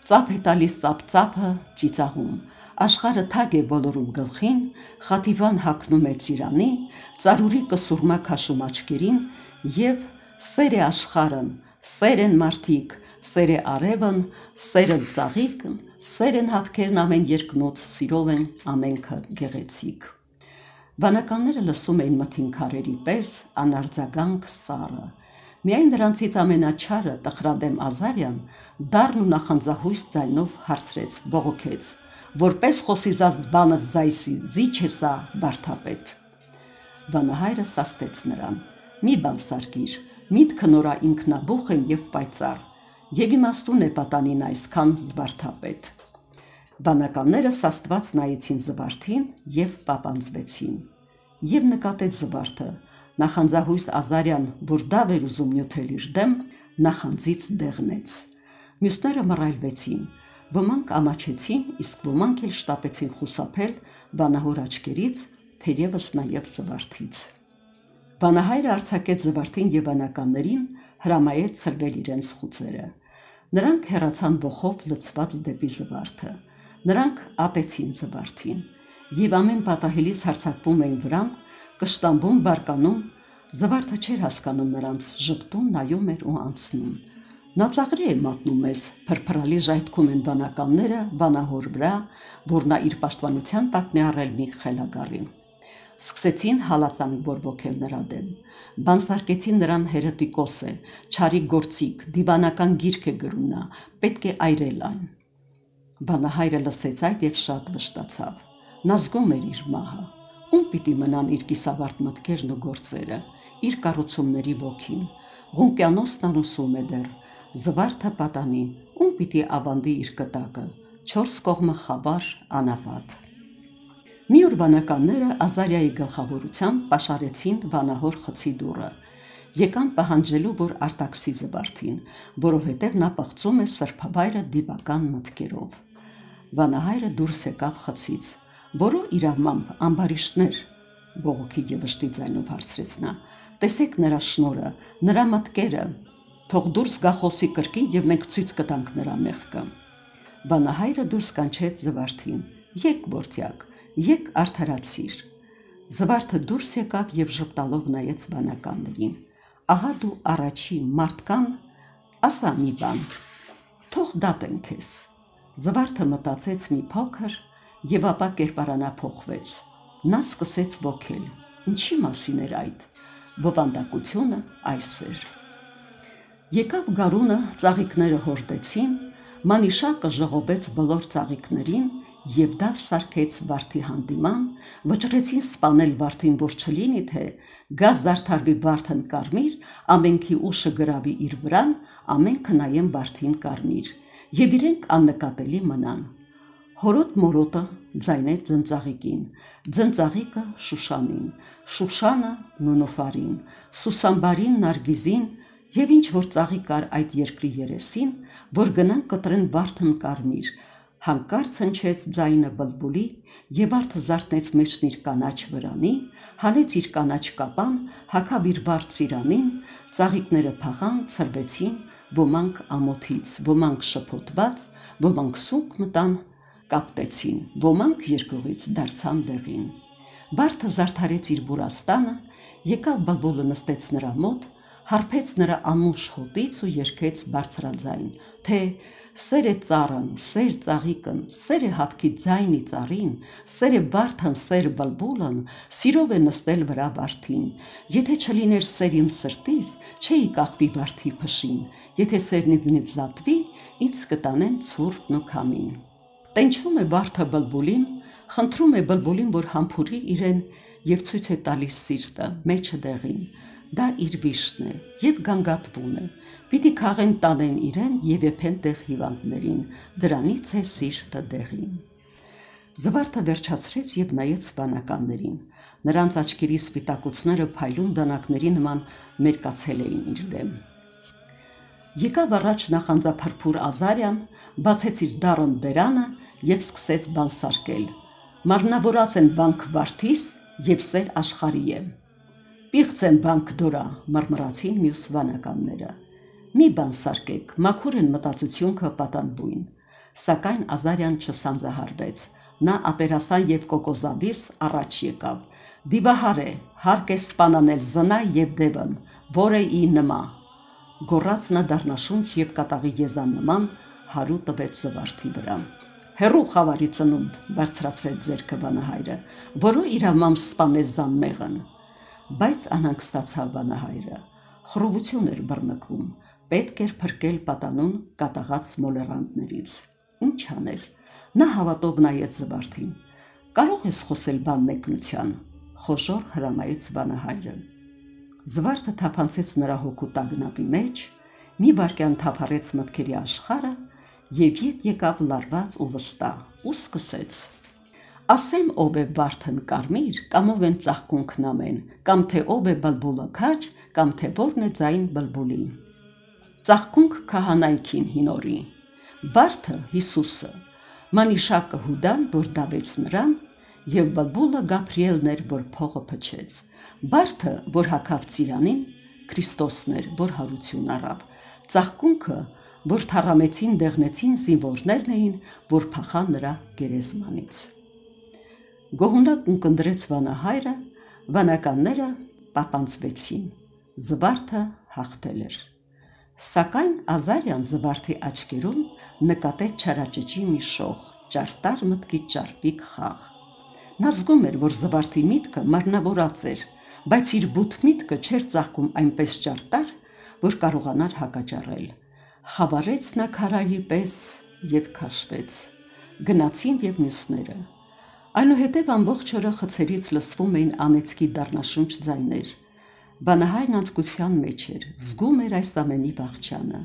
ծափ է տալիս ծափ-ծափը ծիծաղում, Աշխարհը թագ է բոլորում գլխին, խաթիվան հագնում է ծիրանի, ծարուրի կսուրմա քաշում աչքերին, եւ սեր է աշխարհն, սեր են մարդիկ, սեր է արևն, սեր են ծաղիկն, սեր են հավքերն ամեն երկնոց, սիրով են ամենքը գեղեցիկ։ Վանականները լսում էին մթին քարերի պես անարձագանք սառը։ Միայն նրանցից ամենաչարը տխրադեմ Ազարյան դառն ու նախանձահույս ձայնով հարցրեց, բողոքեց. «Որպես խոսիզած բանս ձայսի, զիչ է սա վարդապետ»։ Վանահայրը սաստեց նրան. «Մի բան սարքիր, միտքը նորա ինքնաբուխ են եւ պայծառ, եւ իմաստուն է պատանին այսքան զվարդապետ»։ Վանականները սաստված նայեցին զվարթին եւ պապանձվեցին։ Եվ նկատեց զվարթը, նախանձահույս Ազարյան, որ դավ էր ուզում նյութել իր դեմ, նախանձից դեղնեց։ Մյուսները մռայլվեցին, ոմանք ամաչեցին, իսկ ոմանք էլ շտապեցին խուսափել վանահոր աչքերից, թերևս նաեւ զվարթից։ Վանահայրը արձակեց զվարթին եւ վանականներին, հրամայեց ցրվել իրենց խուցերը։ Նրանք հեռացան ոխով լցված դեպի զվարթը։ Նրանք ատեցին զվարթին, եւ ամեն պատահելիս հարձակվում էին վրան, կշտամբում բարկանում, զվարթը չէր հասկանում նրանց, ժպտում նայում էր ու անցնում։ Նա ծաղրի է մատնում մեզ, փրփրալի ժայթքում են վանականները վանահոր վրա, որ նա իր պաշտպանության տակ մի առել մի խելագարին։ Սկսեցին հալածանք բորբոքել նրա դեմ, բանսարկեցին նրան հերետիկոս է, չարի գործիք, դիվանական գիրք է գրում նա, պետք է այրել այն։ Վանահայրը լսեց այդ եւ շատ վշտացավ։ Նա զգում էր իր մահը, ում պիտի մնան իր կիսավարտ մտքերն ու գործերը, իր կառուցումների ոգին, Ղունկյանոցն անուսում է դեռ, զվարթը պատանի, ում պիտի ավանդի իր կտակը, չորս կողմը խավար, անապատ։ Մի օր վանականները Ազարիայի գլխավորությամբ պաշարեցին վանահոր խցի դուռը, եկան պահանջելու, որ արտաքսի զվարթին, որովհետև նա պղծում է սրբավայրը դիվական մտքերով։ Վանահայրը դուրս եկավ խցից, որո իրավմամբ ամբարիշտներ, բողոքի եւ վշտի ձայնով հարցրեց նա, տեսեք նրա շնորը, նրա մտքերը, թող դուրս գա խոսի կրկին եւ մենք ցույց կտանք նրա մեղքը։ Վանահայրը դուրս կանչեց զվարթին, եկ որդյակ, եկ արդարացիր։ Զվարթը դուրս եկավ եւ ժպտալով նայեց վանականներին։ Ահա դու առաջի մարդկան, ասա մի բան, թող դատեն քեզ։ Զվարթը մտածեց մի փոքր եւ ապա կերպարանափոխվեց։ Նա սկսեց ոգել։ Ինչի մասին էր այդ։ Բովանդակությունը այս էր։ Եկավ գարունը, ծաղիկները հորդեցին, մանիշակը ժողովեց բոլոր ծաղիկներին եւ դավ սարքեց վարդի հանդիման, վճռեցին սպանել վարդին, որ չլինի թե գազ դարդարվի վարդն կարմիր, ամենքի ուշը գրավի իր վրան, ամենքը նայեն վարդին կարմիր, եւ իրենք աննկատելի մնան։ Հորոտ մորոտը ձայնեց ձնծաղիկին, ձնծաղիկը Շուշանին, Շուշանը Նունոֆարին, Սուսամբարին Նարգիզին, եւ ինչ որ ծաղիկ կար այդ երկրի երեսին, որ գնան կտրեն վարդն կարմիր, հանկարծ հնչեց ձայնը բլբուլի, եւ վարդը զարթնեց մեջն իր կանաչ վրանի, հանեց իր կանաչ կապան, հագավ իր վարդ ծիրանին, ծաղիկները փախան, ցրվեցին, ոմանք ամոթից, ոմանք շփոթված, ոմանք սուկ մտան, կապտեցին, ոմանք երկյուղից դարձան դեղին։ Վարդը զարդարեց իր բուրաստանը, եկավ բլբուլը նստեց նրա մոտ, հարբեց նրա անուշ հոտից ու երգեց բարձրաձայն, թե սեր է ծառն, սեր ծաղիկն, սեր է հավքի ձայնի ծառին, սեր է վարդն, սեր բլբուլն, սիրով է նստել վրա վարդին, եթե չլիներ սեր իմ սրտիս, չէի կախվի վարդի փշին, եթե սերն ինձնից զատվի, ինձ կտանեն ցուրտն ու քամին։ Տենչվում է վարդը բլբուլին, խնդրում է բլբուլին, որ համբուրի իրեն եւ ցույց է տալիս սիրտը, մեջը դեղին, դա իր վիշտն է եւ գանգատվում է, պիտի քաղեն տանեն իրեն եւ եփեն տեղ հիվանդներին, դրանից է սիրտը դեղին։ Զվարթը վերջացրեց եւ նայեց վանականներին, նրանց աչքերի սպիտակուցները փայլուն դանակների նման մերկացել էին իր դեմ։ Եկավ առաջ նախանձափրփուր Ազարյան, բացեց իր դառն բերանը եւ սկսեց բան սարքել։ Մարմնավորած են բանք վարդիս եւ սեր աշխարհի է։ Պիղծ են բանք դորա, մռմռացին մյուս վանականները։ Մի բան սարքեք, մաքուր են մտածությունքը պատանբույն, սակայն Ազարյան չսանձահարվեց, Նա ապերասան և կոկոզավից առաջ եկավ. «Դիվահար է, հարկ է սպանանել զնա և դևն, որ է ի նմա»։ Գոռաց նա դառնաշունչ և կատաղի եզան նման հարու տվեց զվարթի վրա։ «Հեռու խավարի ծնունդ», բարձրացրեց ձեռքը վանահայրը, «որո իրավամբ սպանես զանմեղն»։ Բայց անհանգստացավ վանահայրը, խռովություն էր բռնկվում, պետք էր փրկել պատանուն կատաղած մոլեռանդներից։ Ինչ աներ։ Նա հավատով նայեց զվարթին։ «Կարո՞ղ ես խոսել բան մեկնության», խոժոռ հրամայեց վանահայրը։ Զվարթը թափանցեց նրա հոգու տագնապի մեջ, մի վայրկյան թափառեց մտքերի աշխարհը և ետ եկավ լարված ու վստահ, ու սկսեց. «Ասեմ ով է վարդն կարմիր, կամ ով են ծաղկունքն ամեն, կամ թե ով է բլբուլը քաջ, կամ թե որն է ձայն բլբուլի։ Ծաղկունք քահանայքին հինորի, վարդը Հիսուսը, մանիշակը Հուդան, որ դավեց նրան, և բլբուլը Գաբրիելն էր, որ փողը փչեց, վարդը, որ հագավ ծիրանին, Քրիստոսն էր, որ հարություն առավ, ծաղկունքը, որ թառամեցին դեղնեցին զինվորներն էին, որ փախան նրա գերեզմանից»։ Գոհունակն ունկնդրեց վանահայրը, վանականները պապանձվեցին, զվարթը հաղթել էր։ Սակայն Ազարյան զվարթի աչքերում նկատեց չարաճճի մի շող, ճարտար մտքի ճարպիկ խաղ։ Նա զգում էր, որ զվարթի միտքը մարմնավորած էր, բայց իր բութ միտքը չէր ծաղկում այնպես ճարտար, որ կարողանար հակաճառել։ Խավարեց նա քարայրի պես և քաշվեց։ Գնացին և մյուսները։ Այնուհետև ամբողջ օրը խցերից լսվում էին անեծքի դառնաշունչ ձայներ։ Վանահայրն անձկության մեջ էր, զգում էր այս ամենի վախճանը։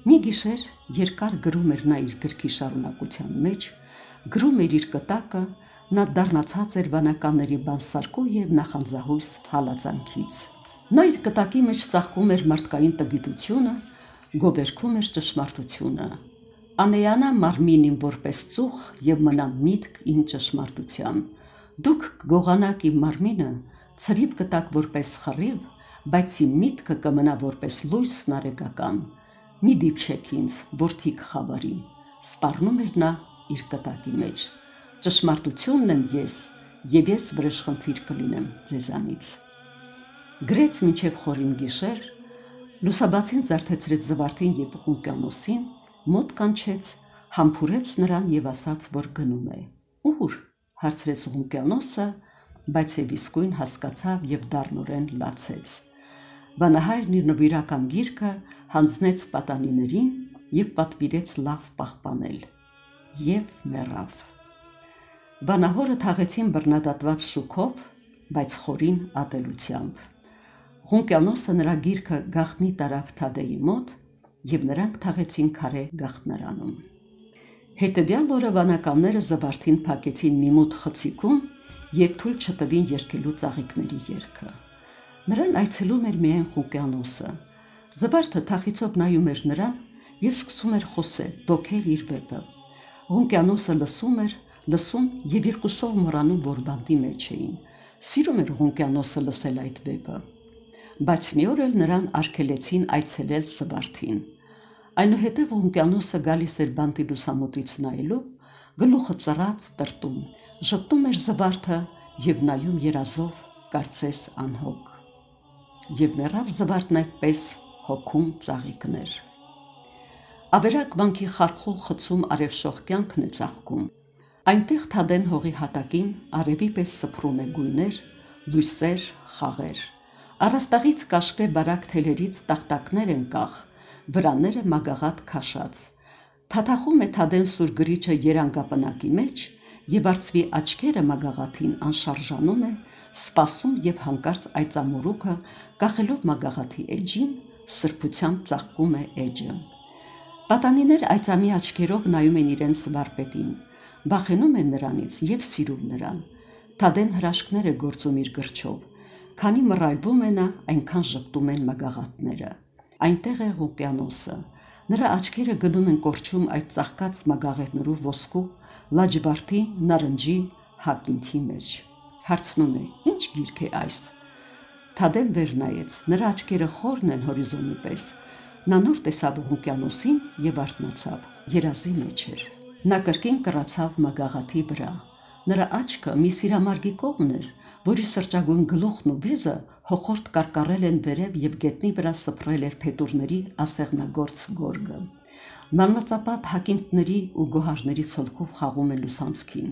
Մի գիշեր երկար գրում էր նա իր գրքի շարունակության մեջ, գրում էր իր կտակը, նա դառնացած էր վանականների բանսարկու և նախանձահույս հալածանքից։ Նա իր կտակի մեջ ծաղկում էր մարդկային տգիտությունը, գովերգում էր ճշմարտությունը։ «Անեյանա մարմինին որպես ծուխ և մնա միտք իմ ճշմարտության։ Դուք կգողանաք իմ մարմինը, ցրիվ կտաք որպես խռիվ, բայց իմ միտքը կմնա որպես լույս նարեկական։ Մի դիպչեք ինձ, որդիք խավարի», սպառնում էր նա իր կտակի մեջ։ «Ճշմարտությունն եմ ես, և ես վրեժխնդիր կլինեմ ձեզանից»։ Գրեց մինչև խորին գիշեր, լուսաբացին զարթեցրեց զվարթին և Ղուկիանոսին, մոտ կանչեց, համբուրեց նրան և ասաց, որ գնում է։ «Ու՞ր», հարցրեց Ղուկիանոսը, բայց և իսկույն հասկացավ և դառնորեն լացեց։ Վանահայրն իր նվիրական գիրքը հանձնեց պատանիներին և պատվիրեց լավ պահպանել։ Եվ մեռավ։ Վանահորը թաղեցին բռնադատված շուքով, բայց խորին ատելությամբ։ Ղուկիանոսը նրա գիրքը գաղտնի տարավ Թադեի մոտ, և նրանք թաղեցին քարե գաղտնարանում։ Հետևյալ օրը վանականները զվարթին փակեցին մի մութ խցիկում և թույլ չտվին երգելու ծաղիկների երգը։ Նրան այցելում էր միայն Ղուկիանոսը։ Զվարթը թախիծով նայում էր նրան և սկսում էր խոսել, ոգել իր վեպը։ Ղուկիանոսը լսում էր, լսում և երկուսով մոռանում, որ բանտի մեջ էին։ Սիրում էր Ղուկիանոսը լսել այդ վեպը։ Բայց մի օր էլ նրան արգելեցին այցելել Զվարթին։ Այնուհետև Ղուկիանոսը գալիս էր բանտի լուսամուտից նայելու, գլուխը ծռած տրտում, ժպտում էր Զվարթը և նայում երազով, կարծես անհոգ։ Եվ մեռավ Զվարթն այդպես հոգում ծաղիկներ։ Ավերակ վանքի խարխուլ խցում արևշող կյանքն է ծաղկում։ Այնտեղ Թադեն հողի հատակին արևի պես սփռում է գույներ, լույսեր, խաղեր։ Առաստաղից կաշվե բարակ թելերից տախտակներ են կախ, վրաները մագաղատ քաշած։ Թաթախում է Թադեն սուր գրիչը երանգապնակի մեջ, և արծվի աչքերը մագաղաթին անշարժանում է, սպասում և հանկարծ այծամորուքը, կախելով մագաղաթի էջին, սրբությամբ ծաղկում է էջը։ Պատանիներ այծամի աչքերով նայում են իրենց վարպետին, վախենում են նրանից և սիրում նրան։ Թադեն հրաշքներ է գործում իր գրչով, քանի մռայլվում է նա, այնքան ժպտում են մագաղաթները։ Այնտեղ է Ղուկիանոսը, նրա աչքերը գնում են կորչում այդ ծաղկած մագաղետնրու ոսկու, լաջվարդի, նարնջի, հակինթի մեջ։ Հարցնում է. «Ինչ գիրք է այս»։ Թադեն վեր նայեց, նրա աչքերը խորն են հորիզոնի պես։ Նա նոր տեսավ Ղուկիանոսին և արթնացավ, երազի մեջ էր։ Նա կրկին կռացավ մագաղաթի վրա։ Նրա աչքը մի սիրամարգի կողմն էր, որի սրճագույն գլուխն ու վիզը հոխորտ կարկառել են վերև և գետնի վրա սփռել էր փետուրների ասեղնագործ գորգը։ Մանվածապատ հակինտների ու գոհարների ցոլքով խաղում է լուսանցքին,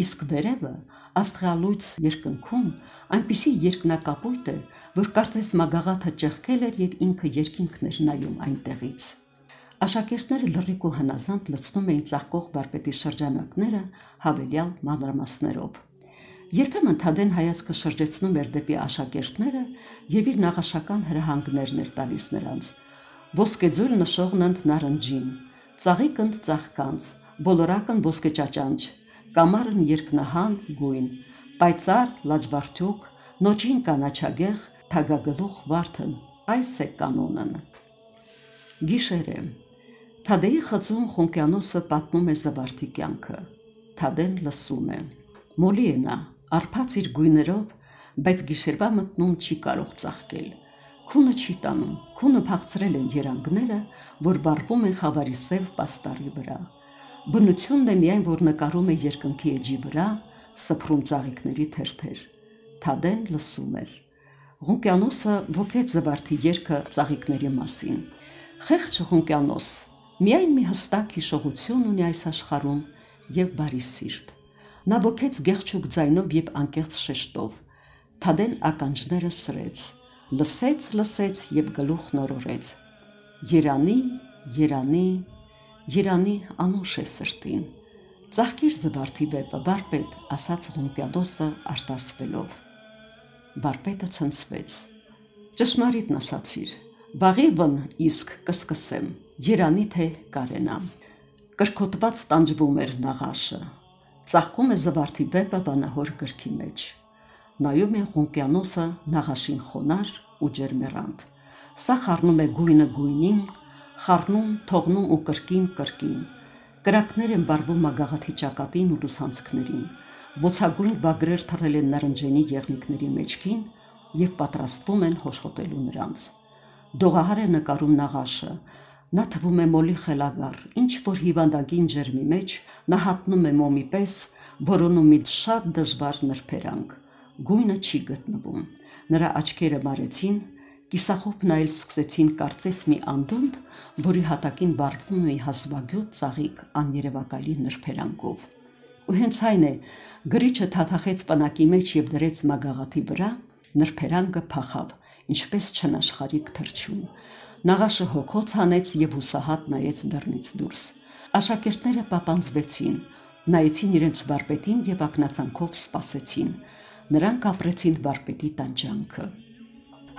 իսկ վերևը աստղալույց երկնքում այնպիսի երկնակապույտ է, որ կարծես մագաղաթը ճեղքել էր և ինքը երկինքն էր նայում այնտեղից։ Աշակերտները լռիկ ու հնազանդ լցնում էին ծաղկող վարպետի շրջանակները հավելյալ մանրամասներով։ Երբեմն Թադեն հայացքը շրջեցնում էր դեպի աշակերտները և իր նաղաշական հրահանգներն էր տալիս նրանց։ Ոսկեձույլ նշողն ընդ նարնջին, ծաղիկն ծաղկանց, բոլորակն ոսկեճաճանճ, կամարն երկնահան գույն, պայծառ լաջվարդուկ, նոճին կանաչագեղ, թագագլուխ վարդն, այս է կանոնն։ Գիշեր է։ Թադեի խծում Խունկյանոսը պատմում է զվարթի կյանքը։ Թադեն լսում է։ Մոլի է նա, արփած իր գույներով, բայց գիշերվա մտնում չի կարող ծաղկել։ Քունը չի տանում, քունը փախցրել են երանգները, որ վառվում են խավարի սև պաստառի վրա։ Բնությունն է միայն, որ նկարում է երկնքի էջի վրա, սփռում ծաղիկների թերթեր։ Թադեն լսում էր։ Ղունկյանոսը ոգեց զվարթի երգը ծաղիկների մասին։ Խեղճ Ղունկյանոս, միայն մի հստակ հիշողություն ունի այս աշխարհում և բարի սիրտ։ Նա ոգեց գեղչուկ ձայնով և անկեղծ շեշտով։ Թադեն ականջները սրեց, լսեց, լսեց և գլուխ նորորեց։ Երանի, երանի, երանի անուշ է սրտին։ Ծաղկիր զվարթի վեպը, վարպետ, ասաց Ղունկյանոսը արտասվելով։ Վարպետը ցնցվեց։ Ճշմարիտն ասացիր, վաղիվն իսկ կսկսեմ, երանի թե կարենամ։ Կրքոտված տանջվում էր նաղաշը։ Ծաղկում է զվարթի վեպը վանահոր գրքի մեջ։ Նայում է Ղունկյանոսը նաղաշին խոնար ու ջերմեռանդ։ Սա խառնում է գույնը գույնին, խառնում, թողնում ու կրկին կրկին։ Կրակներ են վառվում մագաղաթի ճակատին ու լուսանցքներին, բոցագույն բագրեր թռել են նարնջենի եղնիկների մեջքին և պատրաստվում են հոշխոտելու նրանց։ Դողահար է նկարում նաղաշը, նա թվում է մոլի խելագար, ինչ-որ հիվանդագին ջերմի մեջ նա հատնում է մոմի պես, որոնում մի շատ դժվար նրբերանգ։ Գույնը չի գտնվում։ Նրա աչքերը մարեցին, կիսախոփ նայել սկսեցին կարծես մի անդունդ, որի հատակին վառվում է հազվագյուտ ծաղիկ աներևակայելի նրբերանգով։ Ու հենց այն է, գրիչը թաթախեց պնակի մեջ և դրեց մագաղաթի վրա, նրբերանգը փախավ, ինչպես չնաշխարհիկ թռչուն։ Նաղաշը հոգոց հանեց և հուսահատ նայեց դռնից դուրս։ Աշակերտները պապանձվեցին, նայեցին իրենց վարպետին և ակնածանքով սպասեցին։ Նրանք ապրեցին վարպետի տանջանքը։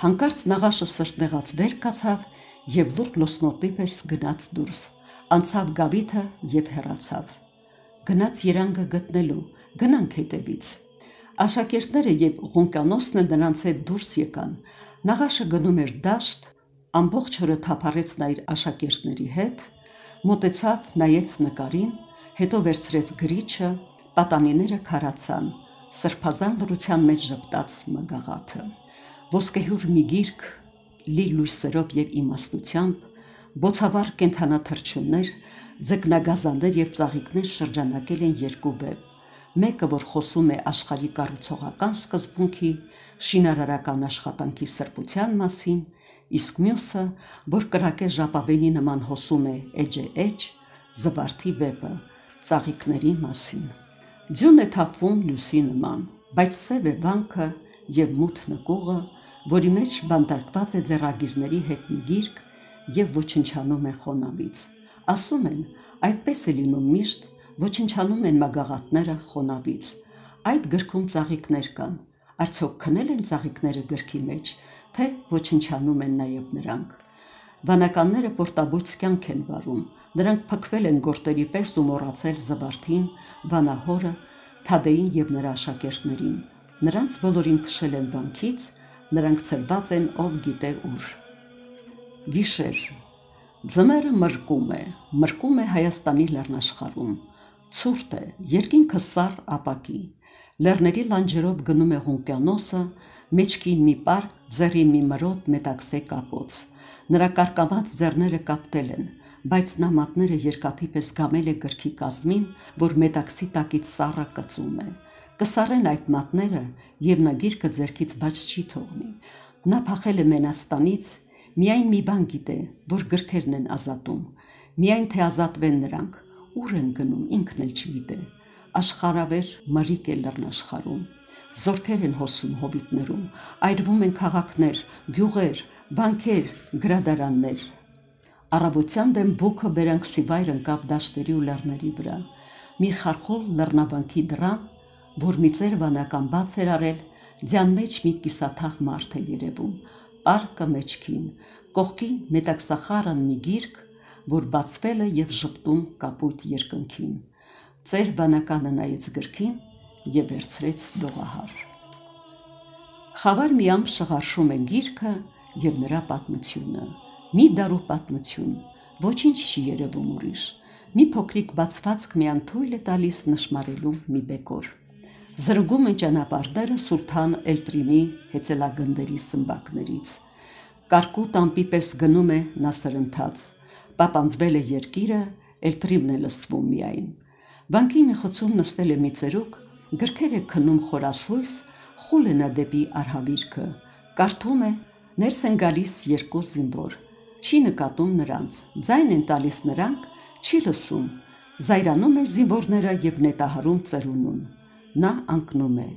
Հանկարծ նաղաշը սրտնեղած վեր կացավ և լուռ լուսնոտի պես գնաց դուրս, անցավ գավիթը և հեռացավ։ Գնաց երանգը գտնելու, գնանք հետևից։ Աշակերտները և Ղունկյանոսն էլ նրանց հետ դուրս եկան։ Նաղաշը գնում էր դաշտ, ամբողջ օրը թափառեց նա իր աշակերտների հետ, մոտեցավ, նայեց նկարին, հետո վերցրեց գրիչը, պատանիները քարացան, սրբազան լռության մեջ ժպտաց մագաղաթը։ Ոսկեհյուր մի գիրք, լի լույսերով և իմաստությամբ, բոցավառ կենդանաթռչուններ, ձկնագազաններ և ծաղիկներ շրջանակել են երկու վեպ, մեկը, որ խոսում է աշխարհի կառուցողական սկզբունքի, շինարարական աշխատանքի սրբության մասին, իսկ մյուսը, որ կրակե ժապավենի նման հոսում է էջ է էջ, զվարթի վեպը, ծաղիկների մասին։ Ձյուն է թափվում լույսի նման, բայց սև է վանքը և մութ նկուղը, որի մեջ բանտարկված է ձեռագիրների հետ մի գիրք և ոչնչանում է խոնավից։ Ասում են, այդպես է լինում միշտ, ոչնչանում են մագաղաթները խոնավից։ Այդ գրքում ծաղիկներ կան, արդյոք քնել են ծաղիկները գրքի մեջ, թե ոչնչանում են նաև նրանք։ Վանականները պորտաբույծ կյանք են վարում, նրանք փքվել են գորտերի պես ու մոռացել զվարթին, վանահորը, Թադեին և նրա աշակերտներին։ Նրանց բոլորին քշել են վանքից, նրանք ցրված են ով գիտե ուր։ Գիշեր։ Ձմեռը մրկում է, մրկում է Հայաստանի լեռնաշխարհում։ Ցուրտ է, երկինքը սառ ապակի։ Լեռների լանջերով գնում է Ղունկյանոսը, մեջքին մի պարկ, ձեռին մի մրոտ մետաքսե կապոց։ Նրա կարկամած ձեռները կապտել են, բայց նա մատները երկաթի պես գամել է գրքի կազմին, որ մետաքսի տակից սառը կծում է։ Կսառեն այդ մատները, եւ նա գիրքը ձեռքից բաց չի թողնի։ Նա փախել է Մենաստանից, միայն մի բան գիտե, որ գրքերն են ազատում, միայն թե ազատվեն նրանք, ուր են գնում, ինքն էլ չգիտե։ Աշխարհավեր մրիկ է լեռնաշխարհում, զորքեր են հոսում հովիտներում, այրվում են քաղաքներ, գյուղեր, բանկեր, գրադարաններ։ Առավոտյան դեմ բուքը բերանքսի վայր ընկավ դաշտերի ու լեռների վրա։ Մի խարխոլ լեռնաբանքի դռան, որ մի ծեր վանական բաց էր արել, ձյան մեջ մի կիսաթաղ մարդ է երևում, պարկը մեջքին, կողքին մետաքսախարն մի գիրք, որ բացվել է եւ ժպտում կապույտ երկնքին։ Ծեր վանականը նայեց գրքին եւ վերցրեց դողահար։ Խավար մի ամպ շղարշում է գիրքը եւ նրա պատմությունը։ Մի դարու պատմություն, ոչինչ չի երևում ուրիշ, մի փոքրիկ բացվածք միան թույլ է տալիս նշմարելու մի բեկոր։ Զրգում են ճանապարհները Սուլթան Էլտրիմի հեծելագնդերի սմբակներից։ Կարկուտ ամպի պես գնում է նա սրընթաց, պապանձվել է երկիրը, Էլտրիմն է լսվում միայն։ Վանքի մի խցում նստել է մի ծերուկ, գրքեր է քնում խորասույս, խուլ է նա դեպի արհավիրքը, կարդում է, ներս են գալիս երկու զինվոր, չի նկատում նրանց, ձայն են տալիս նրանք, չի լսում, զայրանում է զինվորները եւ նետահարում ծերունուն։ Նա անկնում է։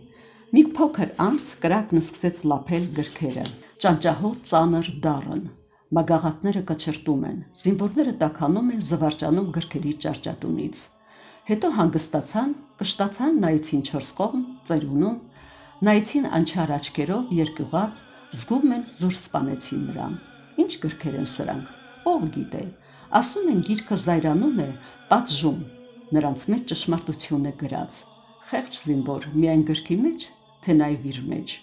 Մի փոքր անց կրակն սկսեց լափել գրքերը, ճանճահոտ ծանր դառն, մագաղատները կչրտում են, զինվորները տաքանում են զվարճանում գրքերի ճարճատունից։ Հետո հանգստացան, կշտացան, նայեցին չորս կողմ, ծերունուն, նայեցին անչար աչքերով երկյուղած, զգում են զուր սպանեցին նրան։ Ինչ գրքեր են սրանք, ով գիտե, ասում են գիրքը զայրանում է, պատժում, նրանց մեջ ճշմարտություն է գրած։ Խեղճ զինվոր միայն գրքի մեջ, թե նաև իր մեջ,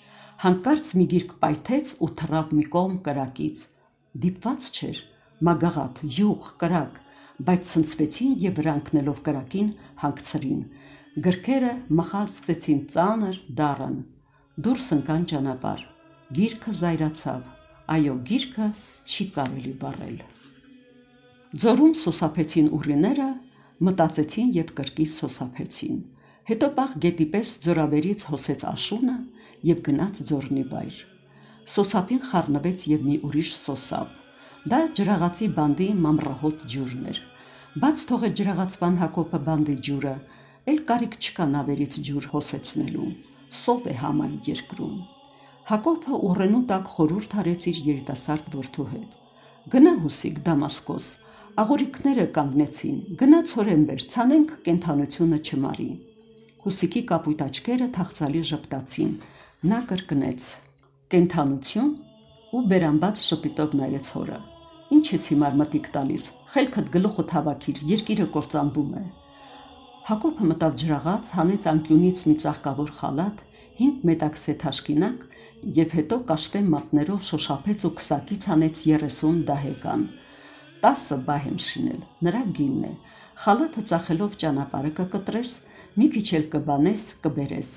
հանկարծ մի գիրք պայթեց ու թռավ մի կողմ կրակից։ Դիպված չէր, մագաղատ, յուղ, կրակ, բայց ցնցվեցին եւ վրա ընկնելով կրակին հանգցրին։ Գրքերը մխալ սկսեցին ծանր, դառն, դուրս ընկան ճանապարհ։ Գիրքը զայրացավ, այո, գիրքը չի կարելի վառել։ Ձորում սոսափեցին ուռիները, մտածեցին եւ կրկից սոսափեցին։ Հետո պաղ գետի պես ձորավերից հոսեց աշունը եւ գնաց ձորնի վայր։ Սոսափին խառնվեց եւ մի ուրիշ սոսափ։ Դա ջրաղացի բանդի մամռահոտ ջուրն էր։ Բաց թողեց ջրաղացվան Հակոբը բանդի ջուրը, էլ կարիք չկա նավերից ջուր հոսեցնելու։ Սով է համայն երկրում։ Հակոբը ուռենու տակ խորհուրդ արեց իր երիտասարդ որդու հետ։ Գնա Հուսիկ Դամասկոս, աղորիկները կանգնեցին, գնա ցորենբեր, ցանենք կենթանությունը չմարի։ Հուսիկի կապույտ աչքերը թախծալի ժպտացին, նա կրկնեց. կենթանություն ու բերանբաց շպիտով նայեց հորը։ Ինչ ես հիմար մտիկ տալիս, խելքդ գլուխդ հավաքիր, երկիրը կործանվում է։ Հակոբը մտավ ջրաղաց, հանեց անկյունից մի ծաղկավոր խալաթ, հինգ մետաքսե թաշկինակ եւ հետո կաշվե մատներով շոշափեց ու քսակից հանեց երեսուն դահեկան։ Տասը բահ եմ շինել, նրա գինն է։ Խալաթը ծախելով ճանապարհը կկտրես, մի քիչ էլ կբանես, կբերես։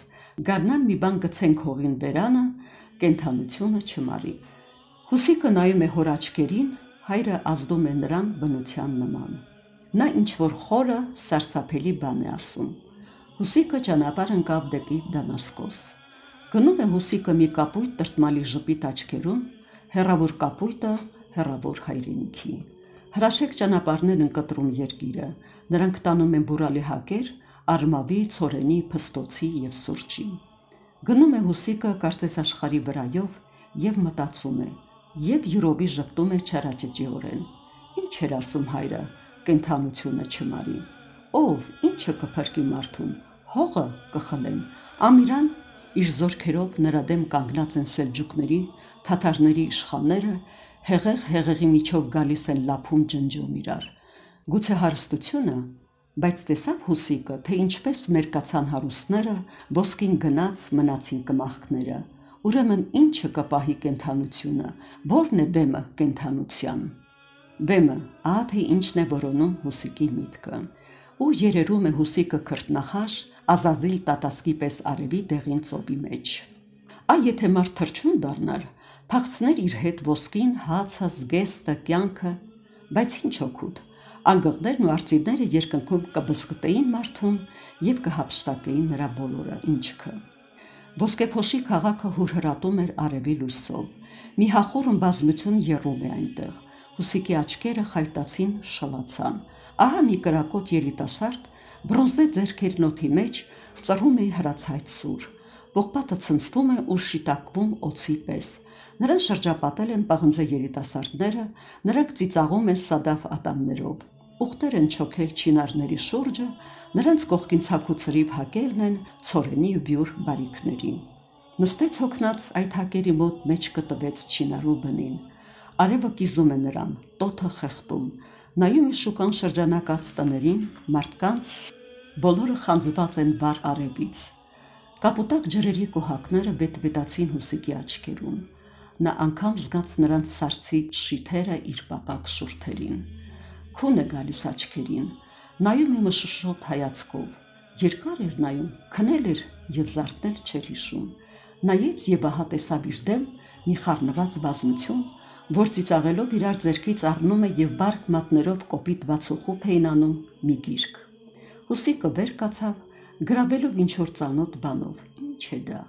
Գարնան մի բան գցենք հողին բերանը, կենթանությունը չմարի։ Հուսիկը նայում է հոր աչքերին, հայրը ազդում է նրան բնության նման։ Նա ինչ-որ խորը, սարսափելի բան է ասում։ Հուսիկը ճանապարհ ընկավ դեպի Դամասկոս։ Գնում է Հուսիկը մի կապույտ տրտմալի ժպիտ աչքերում, հեռավոր կապույտը, հեռավոր հայրենիքի։ Հրաշեք ճանապարհներ են կտրում երկիրը, նրանք տանում են բուրալի հակեր, արմավի, ցորենի, փստոցի եւ սուրճի։ Գնում է Հուսիկը կարծես աշխարհի վրայով եւ մտածում է, եւ յուրովի ժպտում է չարաճճիորեն։ Ինչ էր ասում հայրը, կենթանությունը չմարի։ Ով, ինչը կփրկի մարդուն, հողը կխլեն։ Ամիրան իր զորքերով նրա դեմ կանգնած են սելջուկների, թաթարների իշխանները, հեղեղ հեղեղի միջով գալիս են լափում ջնջում իրար։ Գուցե հարստությունը, բայց տեսավ Հուսիկը, թե ինչպես մերկացան հարուստները, ոսկին գնաց մնացին կմախքները։ Ուրեմն ինչը կպահի կենթանությունը, որն է բեմը կենթանության։ Բեմը, ահա թե ինչն է որոնում Հուսիկի միտքը։ Ու երերում է Հուսիկը քրտնախաշ, Ազազիլ տատասկի պես արևի դեղին ծովի մեջ։ Այ եթե մարդ թրջուն դառնար, փախցներ իր հետ ոսկին, հացը, զգեստը, կյանքը, բայց ինչ օգուտ, Անգղներն ու արծիվները երկնքում կբզկտեին մարդուն եւ կհափշտակեին նրա բոլորը ինչքը։ Ոսկեփոշի քաղաքը հուրհրատում էր արևի լույսով, մի հախուռն բազմություն եռում է այնտեղ, Հուսիկի աչքերը խայտացին, շլացան, ահա մի կրակոտ երիտասարդ, բրոնզե ձեռքերն օդի մեջ ծռում է հրացայտ սուր, ողբատը ցնցվում է ու շիտակվում օձի պես, նրան շրջապատել են պղնձե երիտասարդները, նրանք ծիծաղում են սադավ ատամներով, ուղտեր են չոքել չինարների շուրջը, նրանց կողքին ցաքուցրիվ հակերն են ցորենի ու բյուր բարիքների։ Նստեց հոգնած այդ հակերի մոտ մեջ կտվեց չինարու բնին, արևը կիզում է նրան, տոթը խեղդում, նայում է շուկան շրջանակած տներին, մարդկանց, բոլորը խանձված են բար արևից։ Կապուտակ ջրերի կոհակները վետվետացին Հուսիկի աչքերում, նա անգամ զգաց նրանց սարսիչ շիթերը իր պապակ շուրթերին, քուն է գալիս աչքերին, նայում է մշուշոտ հայացքով, երկար էր նայում, քնել էր և զարթնել չէր հիշում, նայեց և ահա տեսավ իր դեմ մի խառնված բազմություն, որ ծիծաղելով իրար ձեռքից առնում է և բարկ մատներով կոպիտ բացուխուփ էին անում մի գիրք։ Հուսիկը վեր կացավ, գրավելով ինչ-որ ծանոթ բանով, ինչ է դա,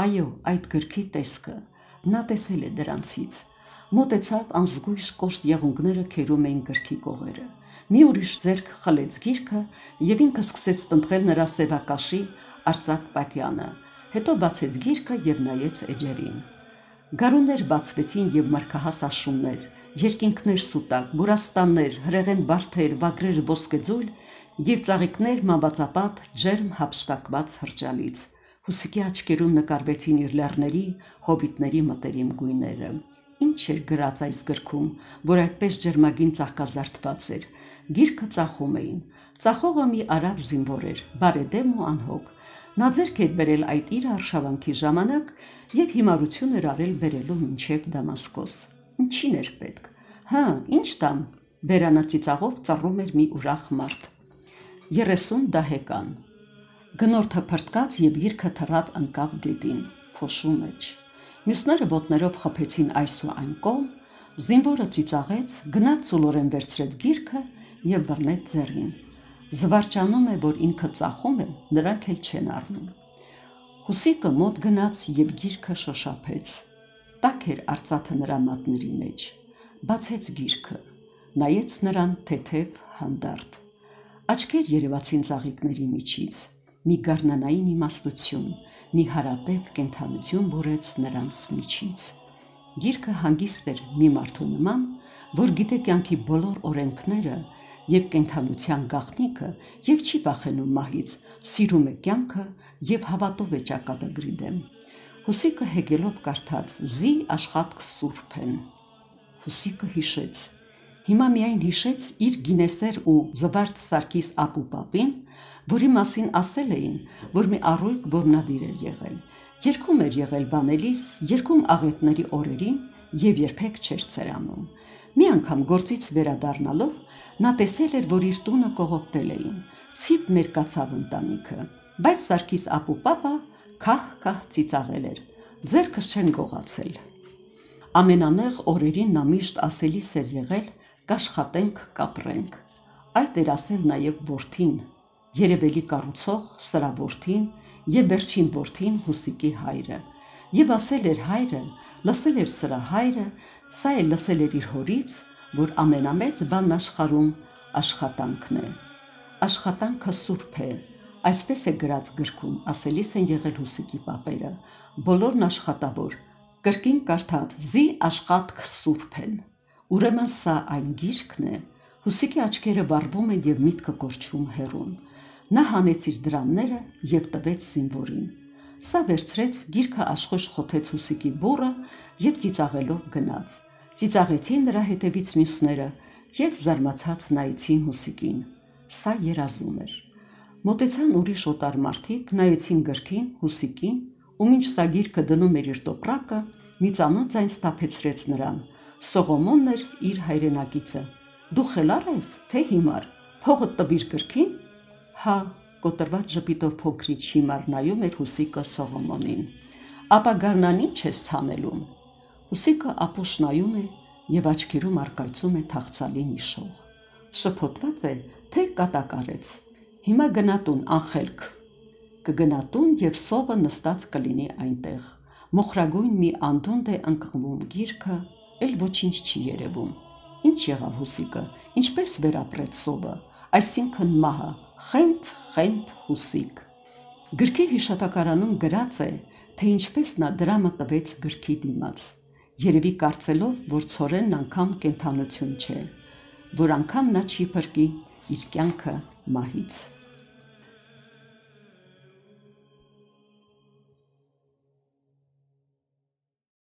այո, այդ գրքի տեսքը, նա տեսել է դրանցից, մոտեցավ անզգույշ կոշտ եղունգները քերում էին գրքի կողերը, մի ուրիշ ձեռք խլեց գիրքը և ինքը սկսեց տնտղել նրա սևակաշի արծաթ պատյանը, հետո բացեց գիրքը և նայեց էջերին։ Գարուններ բացվեցին և մրգահաս աշուններ, երկինքներ սուտակ, բուրաստաններ, հրեղեն բարդեր, վագրեր ոսկեձույլ և ծաղիկներ մանվածապատ ջերմ հափշտակված հրճալից։ Հուսիկի աչքերում նկարվեցին իր լեռների, հովիտների մտերիմ գույները։ Ինչ էր գրած այս գրքում, որ այդպես ջերմագին ծաղկազարդված էր, գիրքը ծախում էին, ծախողը մի արաբ զինվոր էր, բարեդեմ ու անհոգ, նա ձեռք էր բերել այդ իր արշավանքի ժամանակ և հիմարություն էր արել բերելու մինչև Դամասկոս։ Ինչին էր պետք։ Հա, ինչ տամ, բերանա ծիծաղով ծռում էր մի ուրախ մարդ։ երեսուն դահեկան։ Գնորդը փրտկաց և գիրքը թռավ ընկավ գետին, փոշու մեջ։ Մյուսները ոտներով խփեցին այս ու այն կողմ, զինվորը ծիծաղեց, գնաց ծուլորեն վերցրեց գիրքը և բռնեց ձեռին։ Զվարճանում է, որ ինքը ծախում է, նրանք էլ չեն առնում։ Հուսիկը մոտ գնաց և գիրքը շոշափեց։ Տաք էր արծաթը նրա մատների մեջ, բացեց գիրքը, նայեց նրան թեթև հանդարտ։ Աչքեր երևացին ծաղիկների միջից, մի գարնանային իմաստություն, մի հարատև կենդանություն բուրեց նրանց միջից։ Գիրքը հանգիստ էր մի մարդու նման, որ գիտե կյանքի բոլոր օրենքները և կենդանության գաղտնիքը և չի վախենում մահից, սիրում է կյանքը և հավատով է ճակատագրի դեմ։ Հուսիկը հեգելով կարդաց. «Զի աշխատք սուրբ են»։ Հուսիկը հիշեց, հիմա միայն հիշեց իր գինեսեր ու զվարթ Սարգիս ապուպապին, որի մասին ասել էին, որ մի առույգ որմնադիր էր եղել, երգում էր եղել բանելիս, երգում աղետների օրերին և երբեք չէր ցերանում։ Մի անգամ գործից վերադառնալով նա տեսել էր, որ իր տունը կողոպտել էին, ցիպ մերկացավ ընտանիքը, բայց Սարգիս ապուպապը քահ-քահ ծիծաղել էր, ձեռքս չեն գողացել։ Ամենանեղ օրերին նա միշտ ասելիս էր եղել կաշխատենք, կապրենք, այդ էր ասել նաև որդին, երևելի կառուցող սրա որդին և վերջին որդին Հուսիկի հայրը, և ասել էր հայրը, լսել էր սրա հայրը, սա էլ լսել էր իր հորից, որ ամենամեծ բանն աշխարհում աշխատանքն է։ Աշխատանքը սուրբ է, այսպես է գրած գրքում, ասելիս են եղել Հուսիկի պապերը, բոլորն աշխատավոր, կրկին կարդաց. «Զի աշխատք սուրբ են»։ Ուրեմն սա այն գիրքն է։ Հուսիկի աչքերը վառվում են և միտքը կորչում հեռուն։ Նա հանեց իր դրամները և տվեց զինվորին։ Սա վերցրեց, գիրքը աշխույժ խոթեց Հուսիկի բուռը և ծիծաղելով գնաց։ Ծիծաղեցին նրա հետևից մյուսները և զարմացած նայեցին Հուսիկին։ Սա երազում էր։ Մոտեցան ուրիշ օտար մարդիկ, նայեցին գրքին, Հուսիկին, ու մինչ սա գիրքը դնում էր իր տոպրակը, մի ծանոթ ձայն սթափեցրեց նրան։ Սողոմոնն էր իր հայրենակիցը։ Դու խելառ ես, թե հիմար, փողդ տվիր գրքին։ Հա, կոտրված ժպիտով փոքրիչ հիմար նայում էր Հուսիկը Սողոմոնին։ Ապա գարնան ինչ ես ցանելում։ Հուսիկը ապուշ նայում է և աչքերում առկայծում է թախծալի մի շող։ Շփոթված է, թե կատակարեց։ Հիմա գնատուն անխելք։ Կգնատուն և սովը նստած կլինի այնտեղ։ Մոխրագույն մի անդունդ է ընկղվում գիրքը, էլ ոչինչ չի երևում։ Ինչ եղավ Հուսիկը, ինչպես վերապրեց սովը, այսինքն մահը, խենթ, խենթ Հուսիկ։ Գրքի հիշատակարանում գրած է, թե ինչպես նա դրամը տվեց գրքի դիմաց, երևի կարծելով, որ ցորենն անգամ կենդանություն չէ, որ անգամ նա չի փրկի իր կյանքը մահից։